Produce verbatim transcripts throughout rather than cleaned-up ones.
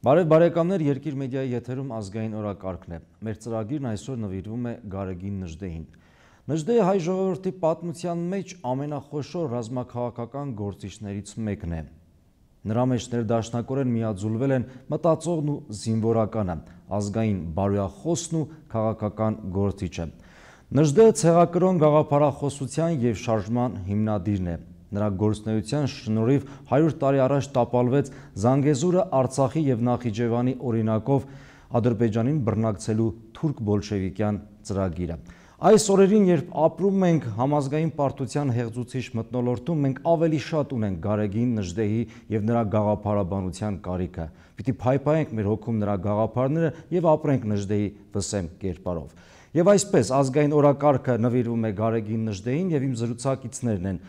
Բարև բարեկամներ, Երկիր մեդիայի եթերում ազգային օրակարգն է։ Մեր ծրագիրն այսօր նվիրվում է Գարեգին Նժդեհին։ Նժդեհը հայ ժողովրդի պատմության մեջ ամենախոշոր ռազմաքաղաքական գործիչներից մեկն է։ Նրա մեջ ներդաշնակորեն միաձուլվել են մտածողն ու զինվորականը, ազգային բարոյախոսն ու քաղաքական գործիչը։ Նժդեհը ցեղակրոն գաղափարախոսության և շարժման հիմնադիրն է։ Նրա գործունեության շնորհիվ հարյուր տարի առաջ տապալվեց Զանգեզուրը Արցախի և Նախիջևանի օրինակով Ադրբեջանին բռնակցելու թուրք բոլշևիկյան ծրագիրը։ Այս օրերին, երբ ապրում ենք համազգային պարտության հեղձուցիչ մթնոլորտում, մենք ավելի շատ ունենք Գարեգին Նժդեհի և նրա գաղափարաբանության կարիքը։ Պիտի փայփայենք մեր հոգում նրա գաղափարները և ապրենք Նժդեհի վսեմ կերպարով։ Եվ այսպես ազգային օրակարգը նվիրվում է Գարեգին Նժդեհին և իմ զրուցակիցներն են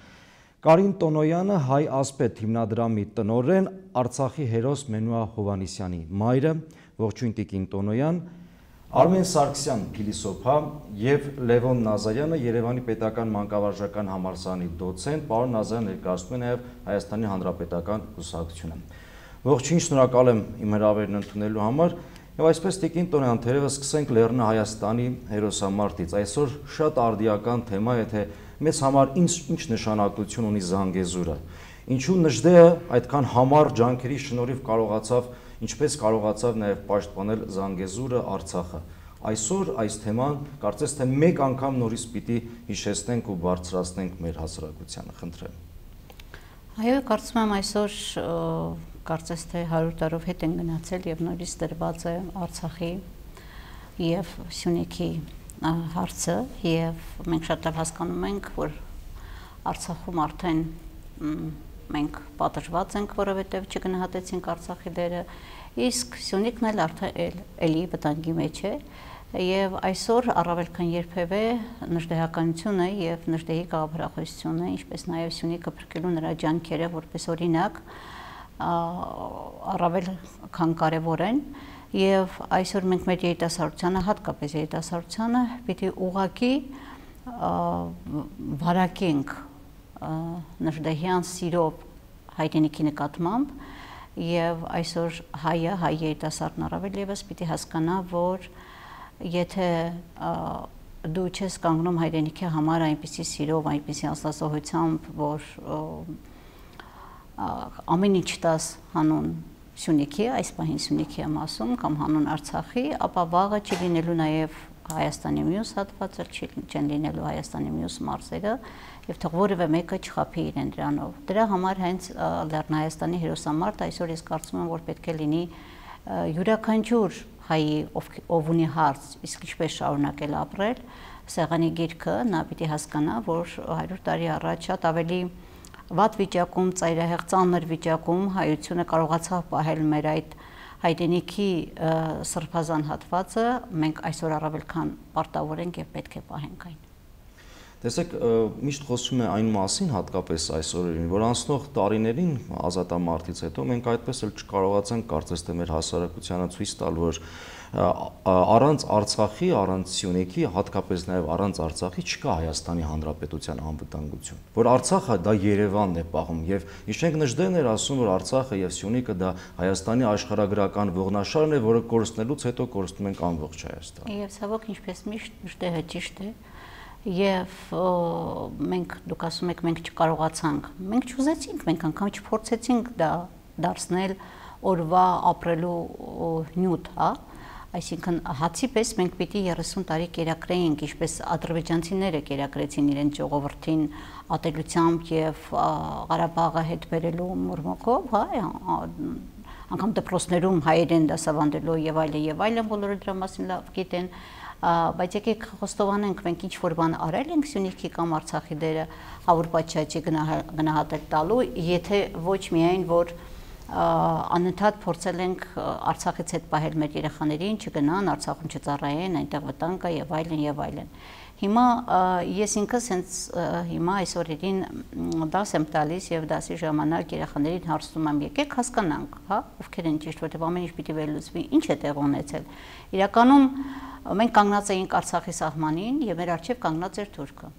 Կարին Տոնոյանը, Հայ ասպետ հիմնադրամի տնօրեն, Արցախի հերոս Մենուա Հովհաննիսյանի մայրը, ողջույն տիկին Տոնոյան, Արմեն Սարգսյան փիլիսոփա և Լևոն Նազարյանը, Երևանի պետական մանկավարժական համալսարանի դոցենտ, պարոն Նազարյանը ներկայացնում է նաև Հայաստանի Հանրապետական կուսակցությունը։ Ողջույն, շնորհակալ եմ իմ հրավերն ընդունելու համար։ Եվ այսպես տիկին Տոնոյան, թերևս սկսենք Լեռնա Հայաստանի հերոսամարտից։ Այսօր շատ արդիական թեմա է, թե մեզ համար ինչ ինչ նշանակություն ունի Զանգեզուրը։ Ինչու Նժդեհը այդքան համառ ջանքերի շնորհիվ կարողացավ, ինչպես կարողացավ նաև պաշտպանել Զանգեզուրը, Արցախը։ Այսօր այս թեման կարծես թե մեկ անգամ նորից պիտի հիշեցնենք ու բարձրացնենք մեր հասարակությանը, խնդրեմ։ Այո, կարծում եմ այսօր կարծես թե հարյուր տարով հետ են գնացել եւ նորից դրված է Արցախի եւ Սյունիքի հարցը եւ մենք շատ լավ հասկանում ենք, որ Արցախում արդեն մենք պատժված ենք, որովհետեւ չգնահատեցինք Արցախի դերը, իսկ Սյունիքն էլ արդեն էլի վտանգի մեջ է եւ այսօր առավել քան երբևէ նժդեհականությունը եւ նժդեհի գաղափարախոսությունը, ինչպես նաեւ Սյունիքը փրկելու նրա ջանքերը որպես օրինակ առավել քան կարևոր են եւ այսօր մենք մեր երիտասարդությանը, հատկապես երիտասարդությանը պիտի ուղղակի վարակենք նժդեհյան սիրով հայրենիքի նկատմամբ եւ այսօր հայը, հայ երիտասարդն առավել եւս պիտի հասկանա, որ եթե դու չես կանգնում հայրենիքի համար այնպիսի սիրով, այնպիսի աստվածահոյությամբ, որ ամեն ինչ տաս հանուն Սյունիքի, այս պահին Սյունիքի եմ ասում, կամ հանուն Արցախի, ապա վաղը չի լինելու նաև Հայաստանի մյուս հատվածը, չեն լինելու Հայաստանի մյուս մարզերը, եւ թող որևէ մեկը չխաբի իրեն դրանով։ Դրա համար հենց Լեռնային Հայաստանի հերոսամարտը այսօր ես կարծում եմ, որ պետք է լինի յուրաքանչյուր հայի, ով ունի հարց, իսկ ինչպես շարունակել ապրել, սեղանի գիրքը նա պիտի հասկանա, որ հարյուր տարի առաջ շատ ավելի վատ վիճակում, ծայրահեղ ծանր վիճակում հայությունը կարողացավ պահել մեր այդ հայրենիքի սրբազան հատվածը, մենք այսօր առավել քան պարտավոր ենք եւ պետք է պահենք այն։ Տեսեք, միշտ խոսում է այն մասին, հատկապես այս օրերին, որ անցնող տարիներին ազատամարտից հետո մենք այդպես էլ չկարողացանք կարծես թե մեր հասարակությանը ցույց տալ, որ առանց Արցախի, առանց Սյունիքի, հատկապես նաև առանց Արցախի չկա Հայաստանի Հանրապետության անվտանգություն, որ Արցախը դա Երևանն է պահում եւ իշենք Նժդեհն էր ասում, որ Արցախը եւ Սյունիքը դա Հայաստանի աշխարհագրական ողնաշարն է, որը կորցնելուց հետո կորցնում ենք ամբողջ Հայաստանը։ Եվ ցավոք, ինչպես միշտ Նժդեհը ճիշտ է եւ մենք դուք ասում եք մենք չկարողացանք, մենք չուզեցինք, մենք անգամ չփորձեցինք դա դարձնել օրվա ապրելու նյութ, հա, այսինքն հացի պես մենք պիտի երեսուն տարի կերակրեինք, ինչպես ադրբեջանցիները կերակրեցին իրենց ժողովրդին ատելությամբ եւ Ղարաբաղը հետ բերելու մուրմուկով, հա, անգամ դպրոցներում հայերեն դասավանդելու եւ այլն եւ այլն, բոլորը դրա մասին լավ գիտեն, բայց եկեք խոստովանենք, մենք ինչ որ բան արել ենք Սյունիքի կամ Արցախի դերը հավուր պատշաճի գնահատել տալու, եթե ոչ միայն որ անընդհատ փորձել ենք Արցախից հետ պահել մեր երեխաներին, չգնան, Արցախում չծառայեն, այնտեղ վտանգ կա եւ այլն եւ այլն։ Հիմա ես ինքս հենց հիմա այս օրերին դաս եմ տալիս եւ դասի ժամանակ երեխաներին հարցնում եմ, եկեք հասկանանք, հա, ովքեր են ճիշտ, որտեղ ամեն ինչ պիտի վերլուծվի, ինչ է տեղ ունեցել։ Իրականում մենք կանգնած էինք Արցախի սահմանին եւ մեր առջեւ կանգնած էր թուրքը։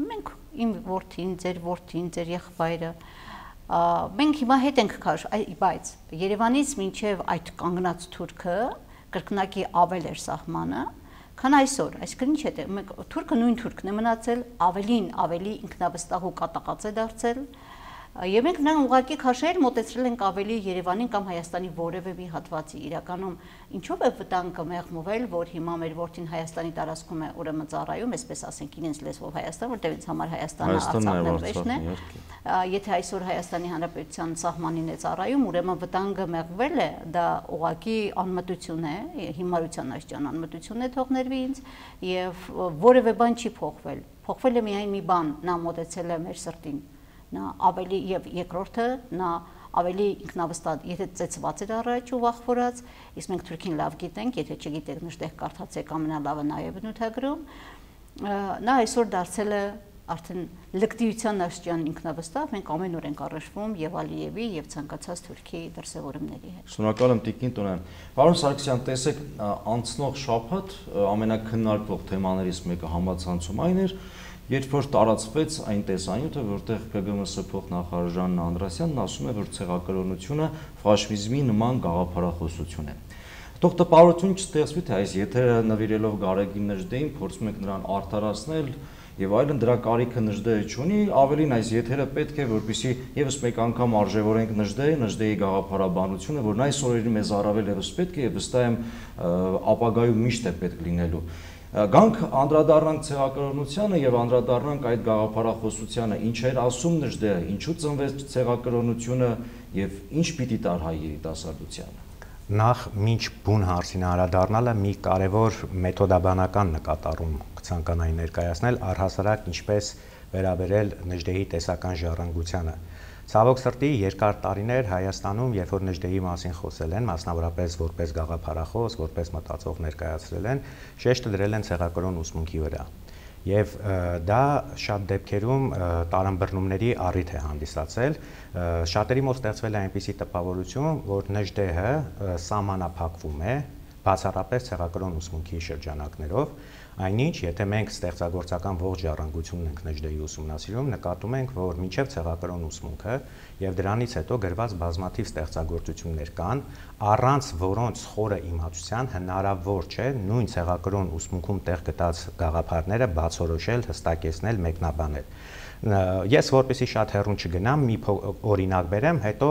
Մենք իմ որդին, ձեր որդին, ձեր եղբայրը Մենք հիմա հետ ենք քաշ, բայց Երևանից մինչև այդ կանգնած թուրքը կրկնակի ավել էր սահմանը, քան այսօր, այսինքն ինչ է, թուրքը նույն թուրքն է մնացել, ավելին ավելի ինքնավստահ ու կատաղած է դարձել, եւ մենք նրան ուղղակի քաշել մոտեցրել ենք ավելի Երևանին կամ Հայաստանի որևէ մի հատվածի, իրականում ինչով է վտանգը մեղմվել, որ հիմա մեր որդին Հայաստանի տարածքում է ուրեմն ծառայում, այսպես ասենք իրենց լեզվով Հայաստան, որտեղ ինձ համար Հայաստանը Արցախն է վերջն է, եթե այսօր Հայաստանի Հանրապետության սահմանին է ծառայում, ուրեմն վտանգը մեղմվել է, դա ուղղակի անմտություն է, հիմարության աշճան անմտություն է թողներվի ինձ եւ որևէ բան չի փոխվել, փոխվել է միայն մի բան, նա մոտեցել է մեր սրտին, նա ավելի եւ երկրորդը նա ավելի ինքնավստահ, եթե ծեծված էր առաջ ու վախվորած, իսկ մենք Թուրքին լավ գիտենք, եթե չգիտեք նշտեղ կարդացեք ամենալավը նաև նյութագրում, նա այսօր դարձել է արդեն լկտիության աշճան ինքնավստահ, մենք ամեն օր ենք առնչվում եւ Ալիևի եւ ցանկացած Թուրքի դրսեւորումների հետ։ Շնորհակալ եմ Տիկին Տոնյան։ Պարոն Սարգսյան, տեսեք, անցնող շաբաթ ամենակննարկվող թեմաներից մեկը համացանցում այն էր, երբ որ տարածվեց այն տեսանյութը, որտեղ ԿԳՄՍ փոխնախարար Ժաննա Անդրասյանն ասում է, որ ցեղակրոնությունը ֆաշիզմի նման գաղափարախոսություն է։ Թող տպավորություն չստեղծվի, թե այս եթերը նվիրելով Գարեգին Նժդեին փորձում եք նրան արդարացնել եւ այլն, դրա կարիքը Նժդեը չունի, ավելին այս եթերը պետք է, որպեսզի եւս մեկ անգամ արժևորենք Նժդեի, Նժդեի գաղափարաբանությունը, որն այս օրերին մեզ առավել եւս պետք է եւ վստահ եմ ապագայում միշտ է պետք լինելու։ Գանք անդրադառնանք ցեղակրոնությանը եւ անդրադառնանք այդ գաղափարախոսությանը, ինչ էր ասում Նժդեը, ինչու ծնվեց ցեղակրոնությունը եւ ինչ պիտի տար հայ երիտասարդությանը։ Նախ մինչ բուն հարցին անդրադառնալը մի կարևոր մեթոդաբանական նկատառում կցանկանայի ներկայացնել, առհասարակ ինչպես վերաբերել Նժդեի տեսական ժառանգությանը։ Ցավոք սրտի երկար տարիներ Հայաստանում, երբ որ Նժդեի մասին խոսել են, մասնավորապես որպես գաղափարախոս, որպես մտածող ներկայացրել են, շեշտը դրել են ցեղակրոն ուսմունքի վրա։ Եվ դա շատ դեպքերում տարանբռնումների առիթ է հանդիսացել, շատերի մոտ ստեղծվել է այնպիսի տպավորություն, որ Նժդեը սահմանափակվում է բացառապես ցեղակրոն ուսմունքի շրջանակներով, այնինչ, եթե մենք ստեղծագործական ողջ ժառանգությունն ենք Նժդեի ուսումնասիրում, նկատում ենք, որ մինչև ցեղակրոն ուսմունքը եւ դրանից հետո գրված բազմաթիվ ստեղծագործություններ կան, առանց որոնց խորը իմացության հնարավոր չէ նույն ցեղակրոն ուսմունքում տեղ գտած գաղափարները բացորոշել, հստակեցնել, մեկնաբանել։ Ես որպեսզի շատ հեռուն չգնամ, մի օրինակ բերեմ, հետո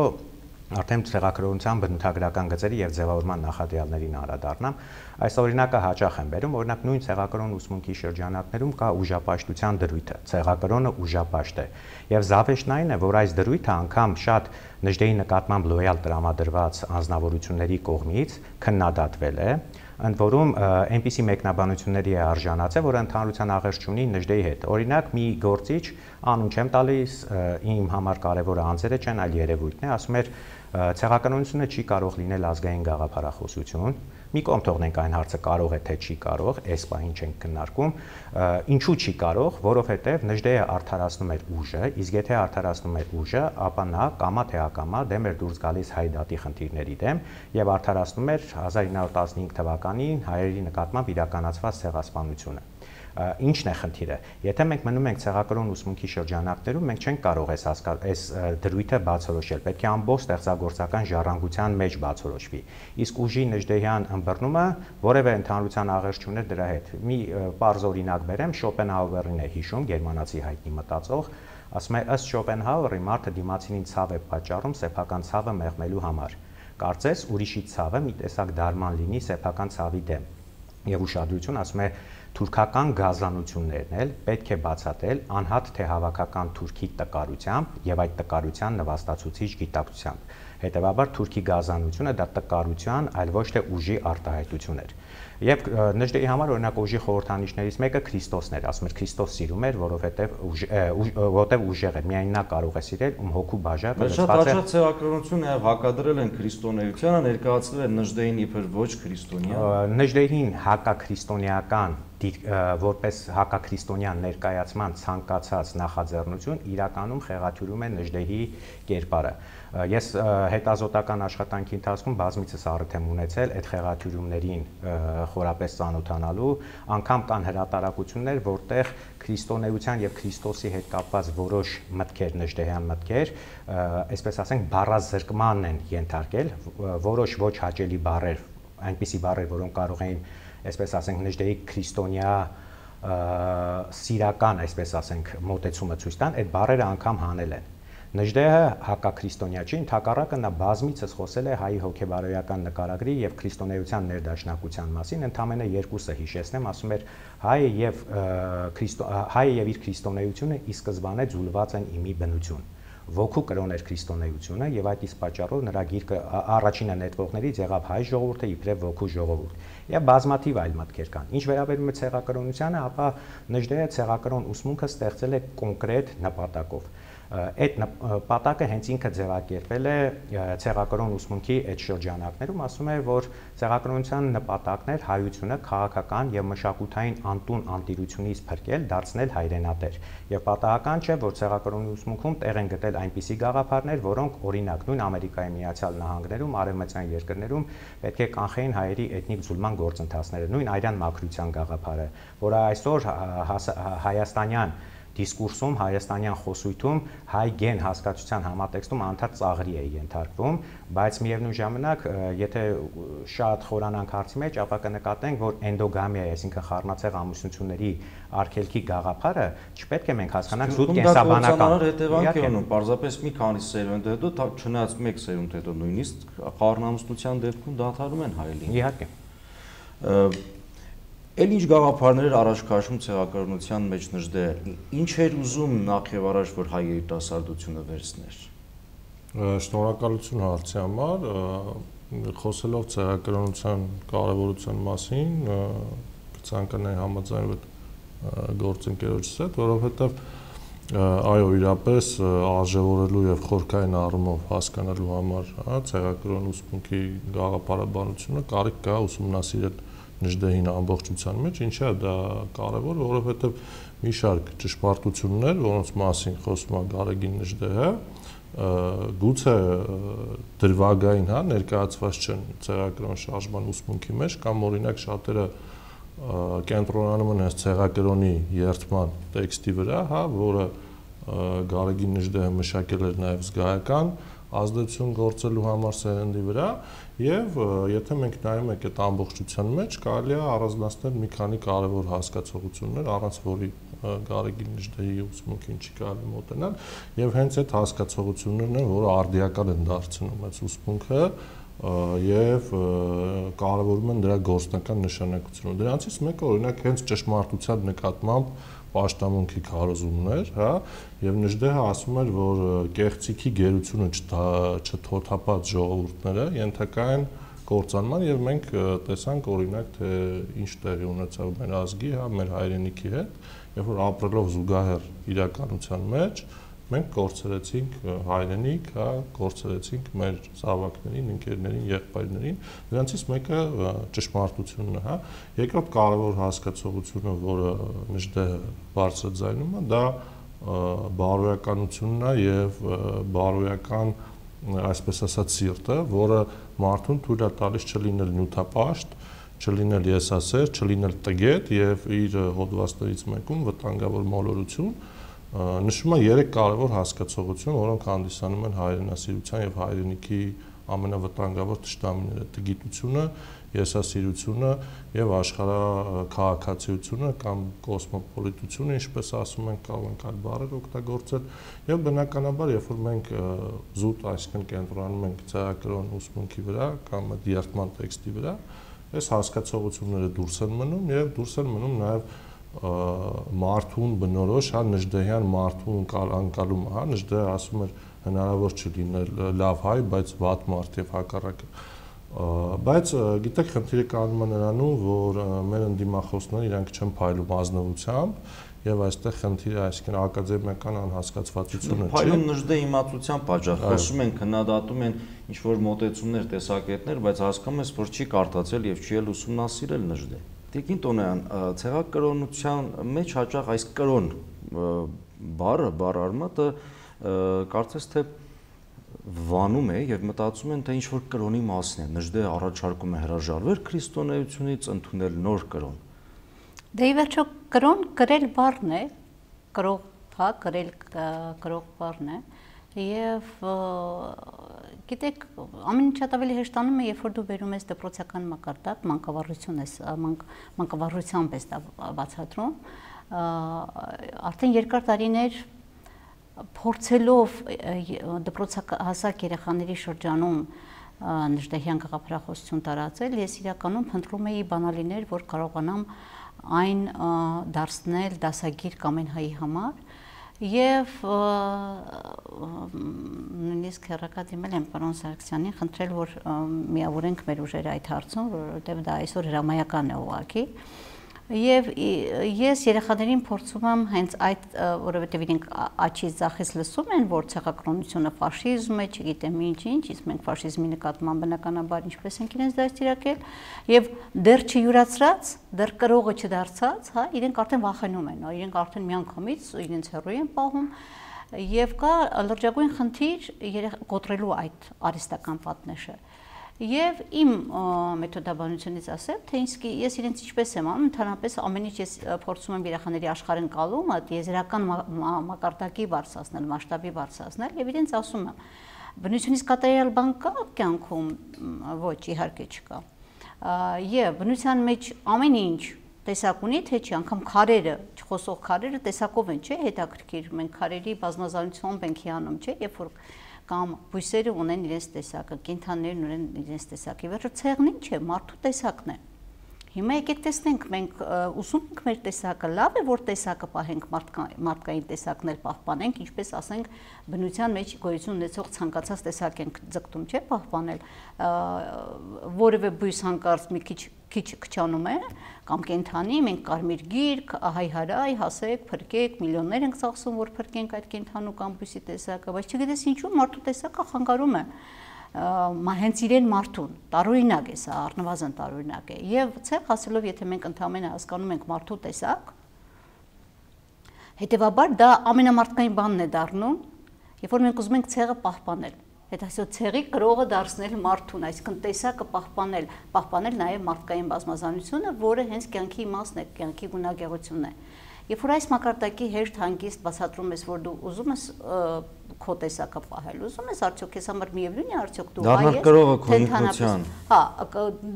արդեն ցեղակրոնության բնութագրական գծերի եւ ձևավորման նախադրյալներին անդրադառնամ, այս օրինակը հաճախ եմ բերում, օրինակ նույն ցեղակրոն ուսմունքի շրջանակներում կա ուժապաշտության դրույթը, ցեղակրոնը ուժապաշտ է, եւ զավեշտն այն է, որ այս դրույթը անգամ շատ Նժդեի նկատմամբ լոյալ տրամադրված անձնավորությունների կողմից քննադատվել է, ընդ որում այնպիսի մեկնաբանությունների է արժանացել, որ ընդհանրության աղերս չունի Նժդեի հետ։ Օրինակ մի գործիչ, անուն չեմ տալիս, իմ համար կարևորը անձերը չեն, այլ երևույթն է, ասում էր ցեղակրոնությունը չի կարող լինել ազգային գաղափարախոսություն, մի կողմ թողնենք այն հարցը կարող է թե չի կարող, այս պահին չենք քննարկում, ինչու չի կարող, որովհետև Նժդեը արդարացնում էր ուժը, իսկ եթե արդարացնում էր ուժը, ապա նա կամա թե ակամա դեմ էր դուրս գալիս հայ դատի խնդիրների դեմ եւ արդարացնում էր հազար ինը հարյուր տասնհինգ թվականին հայերի նկատմամբ իրականացված ցեղասպանությունը։ Ինչն է խնդիրը։ Եթե մենք մնում ենք ցեղակրոն ուսմունքի շրջանակներում, մենք չենք կարող այս այս դրույթը բացորոշել, պետք է ամբողջ ստեղծագործական ժառանգության մեջ բացորոշվի։ Իսկ ուժի Նժդեյան ըմբռնումը որևէ ընդհանրության աղերս չուներ դրա հետ։ Մի պարզ օրինակ բերեմ, Շոպենհաուերին է հիշում, գերմանացի հայտնի մտածող, ասում է ըստ Շոպենհաուերի մարդը դիմացինին ցավ է պատճառում սեփական ցավը մեղմելու համար։ Կարծես ուրիշի ցավը մի տեսակ դարման լինի սեփական ցավի դեմ։ Եվ ուշադրություն, ասում է թուրքական գազանություններն էլ պետք է բացատրել անհատ թե հավաքական թուրքի տկարությամբ եւ այդ տկարության նվաստացուցիչ գիտակցությամբ։ Հետևաբար թուրքի գազանությունը դա տկարության, այլ ոչ թե ուժի արտահայտություն էր։ Եվ Նժդեի համար օրինակ ուժի խորհրդանիշներից մեկը Քրիստոսն էր, ասում էր Քրիստոս սիրում էր, որովհետեւ որովհետեւ ուժեղ էր, միայն նա կարող է սիրել, ում հոգու բաժակը լցված է։ Շատ ցեղակրոնությունը եւ հակադրել են քրիստոնեությանը, ներկայացրել են Նժդեին իբր ոչ քրիստոնյա։ Նժդեին հակաքրիստոնեական որպես հակաքրիստոնյան ներկայացման ցանկացած նախաձեռնություն իրականում խեղաթյուրում է Նժդեի կերպարը։ Ես հետազոտական աշխատանքի ընթացքում բազմիցս առիթ եմ ունեցել այդ խեղաթյուրումներին խորապես ծանոթանալու, անգամ կան հրատարակություններ, որտեղ քրիստոնեության եւ Քրիստոսի հետ կապված որոշ մտքեր, նժդեհյան մտքեր, այսպես ասենք, բառազրկման են ենթարկել, որոշ ոչ հաճելի բառեր, այնպիսի բառեր, որոնք կարող էին, այսպես ասենք, նժդեհի քրիստոնյա սիրական, այսպես ասենք, մոտեցումը ցույց տան, այդ բառերը անգամ հանել են։ Նժդեհը հակաքրիստոնյա չի, ընդհակառակը նա բազմիցս խոսել է հայի հոգեբարոյական նկարագրի եւ քրիստոնեության ներդաշնակության մասին, ընդամենը երկուսը հիշեցնեմ, ասում էր հայը եւ հայը եւ իր քրիստոնեությունը ի սկզբանե ձուլված են իմի բնություն։ Ոգու կրոն էր քրիստոնեությունը եւ այդ իսկ պատճառով նրա գիրքը առաջինը նետվողներից եղավ հայ ժողովուրդը իբրև ոգու ժողովուրդ։ Եվ բազմաթիվ այլ մտքեր կան։ Ինչ վերաբերում է ցեղակրոնությանը, ապա Նժդեհը ցեղակրոն ուսմունքը ստեղծել է կոնկրետ նպատակով։ Այդ նպատակը հենց ինքը ձևակերպել է ցեղակրոն ուսմունքի այդ շրջանակներում, ասում է, որ ցեղակրոնության նպատակն էր հայությունը քաղաքական եւ մշակութային անտուն անտիրությունից փրկել, դարձնել հայրենատեր։ Եվ պատահական չէ, որ ցեղակրոնի ուսմունքում տեղ են գտել այնպիսի գաղափարներ, որոնք օրինակ նույն Ամերիկայի Միացյալ Նահանգներում, արևմտյան երկրներում պետք է կանխեին հայերի էթնիկ ձուլման գործընթացները, նույն արյան մաքրության գաղափարը, որը այսօր հայաստանյան դիսկուրսում, հայաստանյան խոսույթում հայ գեն հասկացության համատեքստում անդադար ծաղրի է ենթարկվում, բայց միևնույն ժամանակ, եթե շատ խորանանք հարցի մեջ, ապա կնկատենք, որ էնդոգամիա, այսինքն խառնացեղ ամուսնությունների արգելքի գաղափարը չպետք է մենք հասկանանք զուտ կենսաբանական հետևանք է ունում, պարզապես մի քանի սերունդ հետո, չնայած մեկ սերունդ հետո նույնիսկ խառնամուսնության դեպքում դադարում են հայելին։ Իհարկե։ Էլ ինչ գաղափարներ էր առաջ քաշում ցեղակրոնության մեջ Նժդեհը, ինչ էր ուզում նախ եւ առաջ, որ հայ երիտասարդությունը վերցներ։ Շնորհակալություն հարցի համար, խոսելով ցեղակրոնության կարևորության մասին, կցանկանայի համաձայնվել գործընկերոջս հետ, որովհետեւ այո, իրապես արժևորելու եւ խորքային առումով հասկանալու համար, հա, ցեղակրոն ուսմունքի գաղափարաբանությունը կարիք կա ուսումնասիրել Նժդեհին ամբողջության մեջ, ինչա դա կարևոր, որովհետև մի շարք ճշմարտություններ, որոնց մասին խոսում է Գարեգին Նժդեհը, գուցե դրվագային, հա, ներկայացված չեն ցեղակրոն շարժման ուսմունքի մեջ, կամ օրինակ շատերը կենտրոնանում են հենց ցեղակրոնի երթման տեքստի վրա, հա, որը Գարեգին Նժդեհը մշակել էր նաև զգայական ազդեցություն գործելու համար սերնդի վրա, եւ եթե մենք նայում ենք այդ ամբողջության մեջ, կարելի է առանձնացնել մի քանի կարևոր հասկացողություններ, առանց որի Գարեգին Նժդեհի ուսմունքին չի կարելի մոտենալ, եւ հենց այդ հասկացողություններն են, որը արդիական են դարձնում այս ուսմունքը եւ կարևորում են դրա գործնական նշանակությունը։ Դրանցից մեկը օրինակ հենց ճշմարտության նկատմամբ պաշտամունքի քարոզումներ, հա, եւ Նժդեհը ասում էր, որ կեղծիքի գերությունը չթոթափած ժողովուրդները ենթակա են կործանման եւ մենք տեսանք օրինակ թե ինչ տեղի ունեցավ մեր ազգի, հա, մեր հայրենիքի հետ, երբ որ ապրելով զուգահեռ իրականության մեջ մենք կորցրեցինք հայրենիք, հա, կորցրեցինք մեր զավակներին, ընկերներին, եղբայրներին, դրանցից մեկը ճշմարտությունն է, հա։ Երկրորդ կարևոր հասկացողությունը, որը Նժդեհը բարձրաձայնում է, դա բարոյականությունն է եւ բարոյական, այսպես ասած, սիրտը, որը մարդուն թույլ է տալիս չլինել նյութապաշտ, չլինել եսասեր, չլինել տգետ եւ իր հոդվածներից մեկում վտանգավոր մոլորություն նշում է երեք կարևոր հասկացողություն, որոնք հանդիսանում են հայրենասիրության եւ հայրենիքի ամենավտանգավոր թշնամիները՝ տգիտությունը, եսասիրությունը եւ աշխարհաքաղաքացիությունը կամ կոսմոպոլիտությունը, ինչպես ասում են, կարող ենք այլ բառեր օգտագործել, եւ բնականաբար, երբ որ մենք զուտ այսքան կենտրոնանում ենք ցեղակրոն ուսմունքի վրա կամ դիերթման տեքստի վրա, այս հասկացողությունները դուրս են մնում եւ դուրս են մնում նաեւ մարդուն բնորոշ, հա, Նժդեհյան մարդուն անկալումը, հա, Նժդեհը ասում էր հնարավոր չի լինել լավ հայ, բայց վատ մարդ եւ հակառակը։ Բայց գիտեք, խնդիրը կանում է նրանում, որ մեր ընդդիմախոսները իրանք չեն փայլում ազնվությամբ եւ այստեղ խնդիրը այսինքն ակադեմիական անհասկացվածությունը չի։ Փայլում Նժդեհի իմացության պատճառ, խոսում են, քննադատում են ինչ որ մոտեցումներ, տեսակետներ, բայց հասկանում ես, որ չի կարդացել եւ չի էլ ուսումնասիրել Նժդեհ։ Տիկին Տոնոյան, ցեղակրոնության մեջ հաճախ այս կրոն բառը, բառարմատը կարծես թե վանում է եւ մտածում են, թե ինչ որ կրոնի մասն է։ Նժդեհը առաջարկում է հրաժարվել քրիստոնեությունից, ընդունել նոր կրոն։ Դե ի վերջո կրոն գրել բառն է, կրող, հա, գրել կրող բառն է եւ գիտեք, ամեն ինչ շատ ավելի հեշտանում է, երբ որ դու բերում ես դպրոցական մակարդակ, մանկավարություն ես, մանկավարությամբ ես բացատրում, արդեն երկար տարիներ փորձելով դպրոցահասակ երեխաների շրջանում նժդեհյան գաղափարախոսություն տարածել, ես իրականում փնտրում էի բանալիներ, որ կարողանամ այն դարձնել դասագիր Կամենհայի համար եւ նույնիսկ հեռակա դիմել եմ պարոն Սարգսյանին, խնդրել, որ միավորենք մեր ուժերը այդ հարցում, որովհետեւ դա այսօր հրամայական է ուղղակի։ Եվ ես երեխաներին փորձում եմ հենց այդ, որովհետև իրենք աչից ձախից լսում են, որ ցեղակրոնությունը ֆաշիզմ է, չգիտեմ ինչ-ինչ, իսկ մենք ֆաշիզմի նկատմամբ բնականաբար ինչպես ենք իրենց դաստիարակել, եւ դեռ չյուրացրած, դեռ կրողը չդարձած, հա, իրենք արդեն վախենում են, իրենք արդեն միանգամից իրենց հեռու են պահում, եւ կա լրջագույն խնդիր կոտրելու այդ արհեստական պատնեշը։ Եվ իմ մեթոդաբանությունից ասեմ, թե ես իրենց ինչպես եմ անում, ընդհանրապես ամեն ինչ ես փորձում եմ երեխաների աշխարհընկալում, եզրական մակարդակի բարձրացնել, մասշտաբի բարձրացնել եւ իրենց ասում եմ, բնությունից կատարյալ բան կա կյանքում, ոչ, իհարկե չկա։ Եվ բնության մեջ ամեն ինչ տեսակ ունի, թե չի, անգամ քարերը, չխոսող քարերը տեսակով են, չէ, հետաքրքիր, մենք քարերի բազմազանությամբ ենք հիանում, չէ, երբ որ կամ բույսերը ունեն իրենց տեսակը, կենդանիներն ունեն իրենց տեսակը։ Վերջը ցեղն ինչ է, մարդու տեսակն է։ Հիմա եկեք տեսնենք, մենք ուսում ենք մեր տեսակը, լավ է, որ տեսակը պահենք, մարդկային տեսակն էլ պահպանենք, ինչպես ասենք, բնության մեջ գոյություն ունեցող ցանկացած տեսակ ենք ձգտում, չէ, պահպանել, որևէ բույս հանկարծ մի քիչ քիչ քչանում է, կամ կենդանի, մենք կարմիր գիրք, հայ-հարայ, հասեք, փրկեք, միլիոններ ենք ծախսում, որ փրկենք այդ կենդանու կամ բույսի տեսակը, բայց չգիտես ինչու մարդու տեսակը խանգարում է հենց իրեն մարդուն, տարօրինակ է սա, առնվազն տարօրինակ է, եւ ցեղ հասելով, եթե մենք ընդհանրապես հասկանում ենք մարդու տեսակ, հետեւաբար դա ամենամարդկային բանն է դառնում, երբ որ մենք ուզում ենք ցեղը պահպանել, հետո ցեղի կրողը դարձնել մարդուն, այսինքն տեսակը պահպանել, պահպանել նաեւ մարդկային բազմազանությունը, որը հենց կյանքի իմաստն է, կյանքի գունագեղությունն է։ Երբ որ այս մակարդակի հեշտ հանգիստ բացատրում ես, որ դու ուզում ես քո տեսակը պահել, ուզում ես արդյոք քեզ համար միևնույն է արդյոք դու հայ ես, թե ընդհանրապես, հա,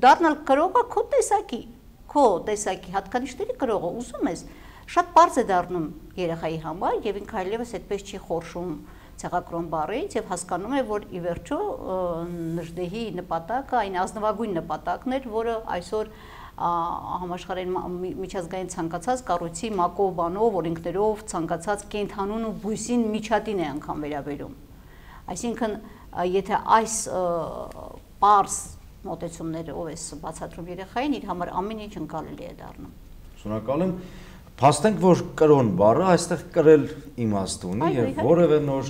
դառնալ կրողը քո տեսակի, քո տեսակի հատկանիշների կրողը ուզում ես, շատ པարզ է դառնում երեխայի համար եւ ինքը այլևս այդպես չի խորշում ցեղակրոն բառից եւ հասկանում է, որ ի վերջո նժդեհի նպատակը այն ազնվագույն նպատակն էր, որը այսօր համաշխարհային միջազգային ցանկացած կառույցի մակով բանով, օրենքներով ցանկացած կենդանուն ու բույսին միջատին է անգամ վերաբերում։ Այսինքն, եթե այս պարզ մոտեցումներով ես բացատրում երեխային, իր համար ամեն ինչ ընկալելի է դառնում։ Շնորհակալ եմ։ Փաստենք, որ կրոն բառը այստեղ կրել իմաստ ունի եւ որևէ նոր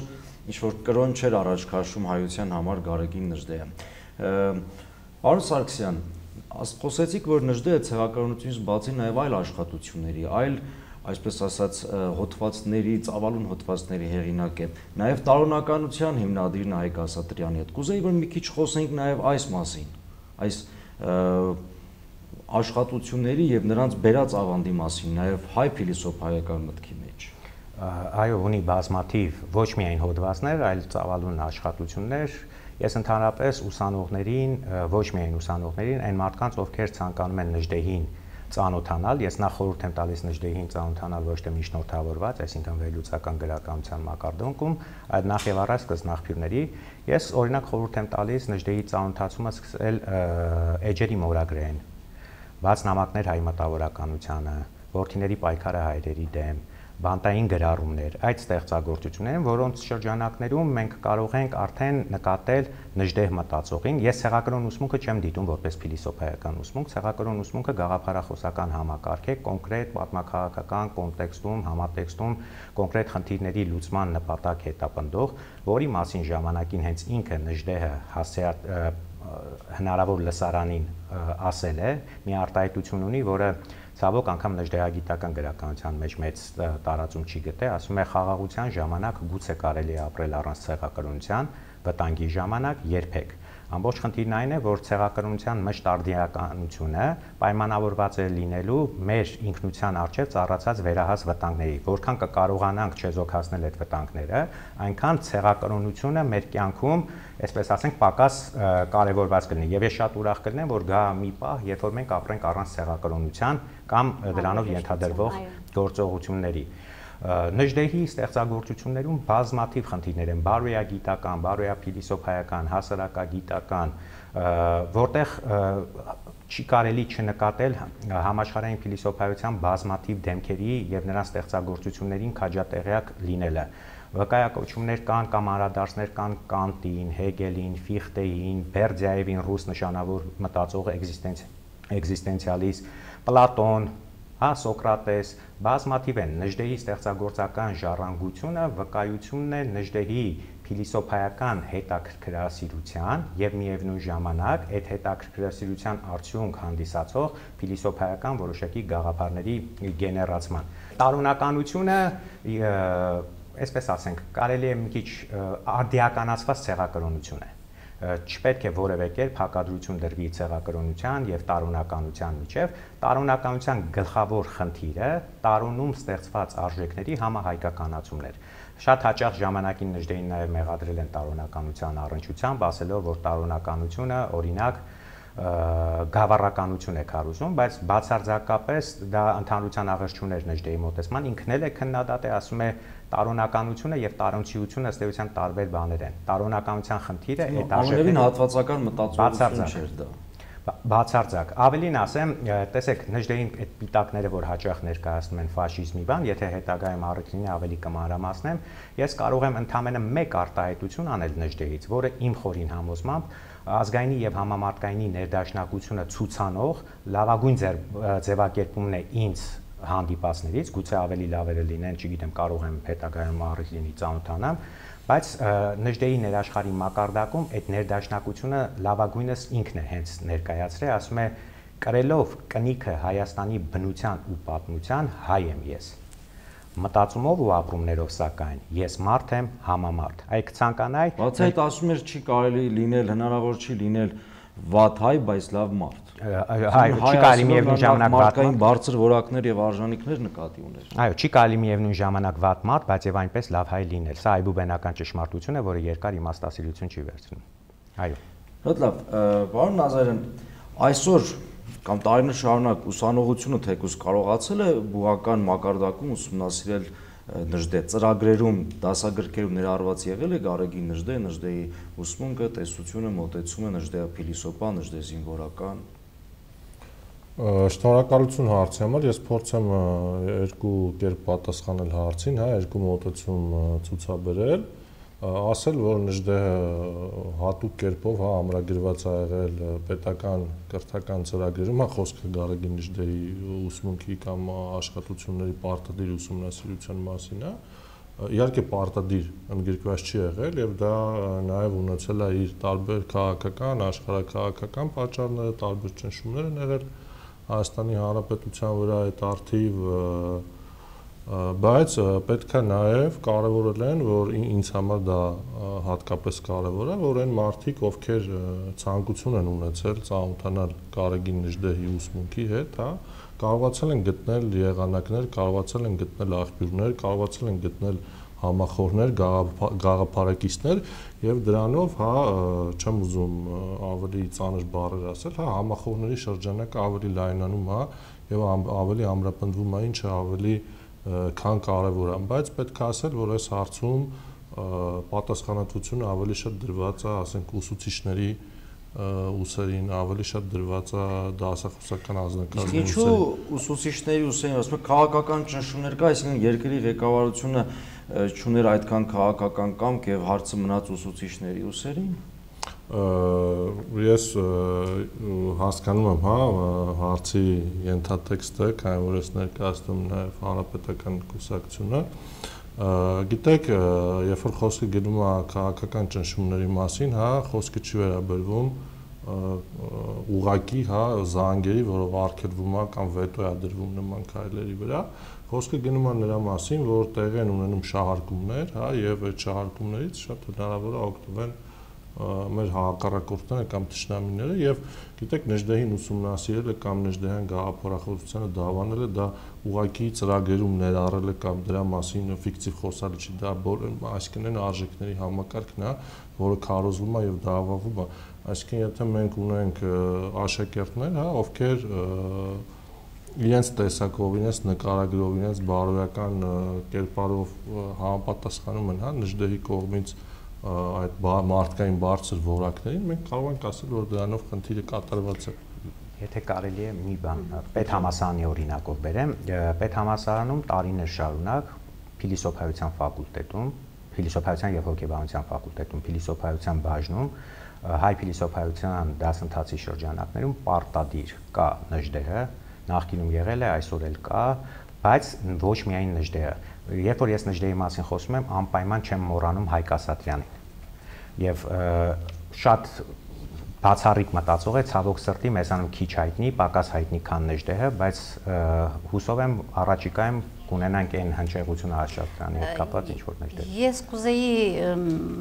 ինչ-որ կրոն չէր առաջ քաշում հայության համար Գարեգին Նժդեհը։ Պարոն Սարգսյան, խոսեցիք, որ Նժդեհը ցեղակրոնությունից բացի նաեւ այլ աշխատությունների, այլ, այսպես ասած, հոդվածների, ծավալուն հոդվածների հեղինակ է, նաեւ տարօրինականության հիմնադիրն է Հայկ Ասատրյանի հետ։ Կուզեի, որ մի քիչ խոսենք նաեւ այս մասին, այս աշխատությունների եւ նրանց բերած ավանդի մասին, նաեւ հայ փիլիսոփայական մտքի մեջ։ Այո, ունի բազմաթիվ ոչ միայն հոդվածներ, այլ ծավալուն աշխատություններ։ Ես ընդհանրապես ուսանողներին, ոչ միայն ուսանողներին, այն մարդկանց, ովքեր ցանկանում են Նժդեհին ծանոթանալ, ես նախ խորհուրդ եմ տալիս Նժդեհին ծանոթանալ ոչ թե միջնորդավորված, այսինքն վերլուծական գրականության մակարդակում, այլ նախ եւ առաջ սկզբնաղբյուրների։ Ես օրինակ խորհուրդ եմ տալիս Նժդեհի ծանոթացումը սկսել էջերի մորագրեն, բաց նամակներ հայ մտավորականությանը, որդիների պայքարը հայրերի դեմ, բանտային գրառումներ, այդ ստեղծագործություններն, որոնց շրջանակներում մենք կարող ենք արդեն նկատել Նժդեհ մտածողին։ Ես ցեղակրոն ուսմունքը չեմ դիտում որպես փիլիսոփայական ուսմունք, ցեղակրոն ուսմունքը գաղափարախոսական համակարգ է, կոնկրետ պատմական կոնտեքստում, համատեքստում կոնկրետ խնդիրների լուծման նպատակ հետապնդող, որի մասին ժամանակին հենց ինքը Նժդեհը հասցեատ հնարավոր լսարանին ասել է, մի արտահայտություն ունի, որը ցավոք անգամ նժդեհագիտական գրականության մեջ մեծ տարածում չի գտե, ասում է խաղաղության ժամանակ գուցե կարելի է ապրել առանց ցեղակրոնության, վտանգի ժամանակ երբեք։ Ամբողջ խնդիրն այն է, որ ցեղակրոնության մշտարդիականությունը պայմանավորված է լինելու մեր ինքնության առջև ծառացած վերահաս վտանգների, որքան կկարողանանք չեզոքացնել այդ վտանգները, այնքան ցեղակրոնությունը մեր կյանքում, այսպես ասենք, պակաս կարևորված կլինի։ Եվ ես շատ ուրախ կլինեմ, որ գա մի պահ, երբ որ մենք ապրենք առանց ցեղակրոնության կամ դրանով ենթադրվող գործողությունների։ Նժդեհի ստեղծագործություններում բազմաթիվ խնդիրներ են, բարոյագիտական, բարոյափիլիսոփայական, հասարակագիտական, որտեղ չի կարելի չնկատել համաշխարհային փիլիսոփայության բազմաթիվ դեմքերի եւ նրանց ստեղծագործություններին քաջատեղյակ լինելը։ Վկայակոչումներ կան կամ անդրադարձներ կան Կանտին, Հեգելին, Ֆիխտեին, Բերդյաևին, ռուս նշանավոր մտածող էքզիստենցիալիստ, Պլատոն, հա Սոկրատես, բազմաթիվ են։ Նժդեհի ստեղծագործական ժառանգությունը վկայությունն է Նժդեհի փիլիսոփայական հետաքրքրասիրության եւ միևնույն ժամանակ այդ հետաքրքրասիրության արդյունք հանդիսացող փիլիսոփայական որոշակի գաղափարների գեներացման։ Տարօնականությունը, այսպես ասենք, կարելի է մի քիչ արդիականացված ցեղակրոնություն է։ Չպետք է որևէ կերպ հակադրություն դրվի ցեղակրոնության եւ տարօնականության միջեւ։ Տարօնականության գլխավոր խնդիրը տարոնում ստեղծված արժեքների համահայկականացումն էր։ Շատ հաճախ ժամանակին Նժդեին նաեւ մեղադրել են տարօնականության առնչությամբ, ասելով, որ տարօնականությունը օրինակ գավառականություն է քարոզում, բայց բացարձակապես դա ընդհանրության աղերս չուներ Նժդեի մոտեցման, ինքն էլ է քննադատ է, ասում է տարօնականությունը եւ տարոնցիությունը ըստ էության տարբեր բաներ են։ Տարօնականության խնդիրը այդ արժեքներին հատվածական մտածողություն չէր դա։ Բացարձակ։ Ավելին ասեմ, տեսեք, Նժդեին այդ պիտակները, որ հաճախ ներկայացնում են ֆաշիզմի բան, եթե հետագայում առիթ ավելի կմանրամասնեմ, ես կարող եմ ընդամենը մեկ արտահայտություն անել Նժդեից, որը իմ խորին համոզմամբ ազգայինի եւ համամարտկայինի ներդաշնակությունը ցուցանող լավագույն ձևակերպումն է ինձ հանդիպածներից, գուցե ավելի լավերը լինեն, չգիտեմ, կարող եմ հետագայում առիթ լինի ծանոթանամ, բայց Նժդեի ներաշխարհի մակարդակում այդ ներդաշնակությունը լավագույնս ինքն է հենց ներկայացրել, ասում է կրելով կնիքը Հայաստանի բնության ու պատմության հայ եմ ես։ Մտածումով ու ապրումներով սակայն ես մարդ եմ համամարդ։ Այ կցանկանայի, բացի այդ ասում էր չի կարելի լինել, հնարավոր չի լինել վատ հայ, բայց լավ մարդ։ Այո, չի կարելի միևնույն ժամանակ վատ մարդկային բարձր որակներ եւ արժանինքներ նկատի ուներ։ Այո, չի կարելի միևնույն ժամանակ վատ մարդ, բայց եւ այնպես լավ հայ լինել։ Սա այբուբենական ճշմարտություն է, որը երկար իմաստասիրություն չի վերցնում։ Այո։ Շատ լավ, պարոն Նազարյան, այսօր կամ տարիներ շարունակ ուսանողությունը թեկուզ կարողացել է բուհական մակարդակում ուսումնասիրել Նժդե ծրագրերում, դասագրքերում ներառված եղել է Գարեգին Նժդե, Նժդեի ուսմունքը, տեսությունը, մոտեցումը, Նժդեի փիլիսոփա, Նժդե զինվորական։ Շնորհակալություն հարցի համար, ես փորձեմ երկու կերպ պատասխանել հարցին, հա, երկու մոտեցում ցուցաբերել, ասել, որ Նժդեհը հատուկ կերպով, հա, ամրագրված ա եղել պետական կրթական ծրագրերում, հա, խոսքը Գարեգին Նժդեի ուսմունքի կամ աշխատությունների պարտադիր ուսումնասիրության մասին է, իհարկե պարտադիր ընդգրկված չի եղել եւ դա նաեւ ունեցել է իր տարբեր քաղաքական, աշխարհաքաղաքական պատճառները, տարբեր ճնշումներ են եղել Հայաստանի Հանրապետության վրա այդ արդիվ, բայց պետք է նաև կարևորել են, որ ինձ համար դա հատկապես կարևոր է, որ այն մարդիկ, ովքեր ցանկություն են ունեցել ծանոթանալ Գարեգին Նժդեի ուսմունքի հետ, հա, կարողացել են գտնել եղանակներ, կարողացել են գտնել աղբյուրներ, կարողացել են գտնել համախոհներ, գաղափարակիցներ եւ դրանով, հա, չեմ ուզում ավելի ծանր բառեր ասել, հա, համախոհների շրջանակը ավելի լայնանում, հա, եւ ավելի ամրապնդվում է, ինչը ավելի քան կարևոր է, բայց պետք է ասել, որ այս հարցում պատասխանատվությունը ավելի շատ դրված է, ասենք, ուսուցիչների ուսերին, ավելի շատ դրված է դասախոսական անձնակազմի ուսերին։ Ինչու ուսուցիչների ուսերին, ասում եք, քաղաքական ճնշումներ կա, այսինքն երկրի ղեկավարությունը չուներ այդքան քաղաքական կամք եւ հարցը մնաց ուսուցիչների ուսերին։ Ես հասկանում եմ, հա, հարցի ենթատեքստը, քանի որ ես ներկայացնում նաև հանրապետական կուսակցությունը, գիտեք, երբ որ խոսքը գնում է քաղաքական ճնշումների մասին, հա, խոսքը չի վերաբերվում ուղղակի, հա, զանգերի, որով արգելվում է կամ վետո է դրվում նման քայլերի վրա, խոսքը գնում է նրա մասին, որ տեղի են ունենում շահարկումներ, հա, եւ այդ շահարկումներից շատ հնարավոր է օգտվել մեր հակառակորդները կամ թշնամիները եւ գիտեք Նժդեհին ուսումնասիրելը կամ Նժդեհյան գաղափարախոսությանը դավանելը դա ուղղակի ծրագրերում ներառելը կամ դրա մասին ֆիկտիվ խոսալը չի, դա այսինքն այն արժեքների համակարգն է, որը քարոզվում է եւ դավանվում է, այսինքն եթե մենք ունենք աշակերտներ, հա, ովքեր իրենց տեսակով, իրենց նկարագրով, իրենց բարոյական կերպարով համապատասխանում են, հա, Նժդեհի կողմից այդ մարդկային բարձր որակներին, մենք կարող ենք ասել, որ դրանով խնդիրը կատարված է։ Եթե կարելի է մի բան պետհամալսարանի օրինակով բերեմ, պետհամալսարանում տարիներ շարունակ փիլիսոփայության ֆակուլտետում, փիլիսոփայության եւ հոգեբանության ֆակուլտետում, փիլիսոփայության բաժնում, հայ փիլիսոփայության դասընթացի շրջանակներում պարտադիր կա Նժդեհը, նախկինում եղել է, այսօր էլ կա, բայց ոչ միայն Նժդեհը։ Երբ որ ես Նժդեհի մասին խոսում եմ, անպայման չեմ մոռանում Հայկ Ասատրյանին։ Եվ շատ բացառիկ մտածող է, ցավոք սրտի մեզանում քիչ հայտնի, պակաս հայտնի քան Նժդեհը, բայց հուսով եմ առաջիկայում կունենանք այն հնչեղությունը Ասատրյանի հետ կապված ինչ որ Նժդեհ։ Ես կուզեի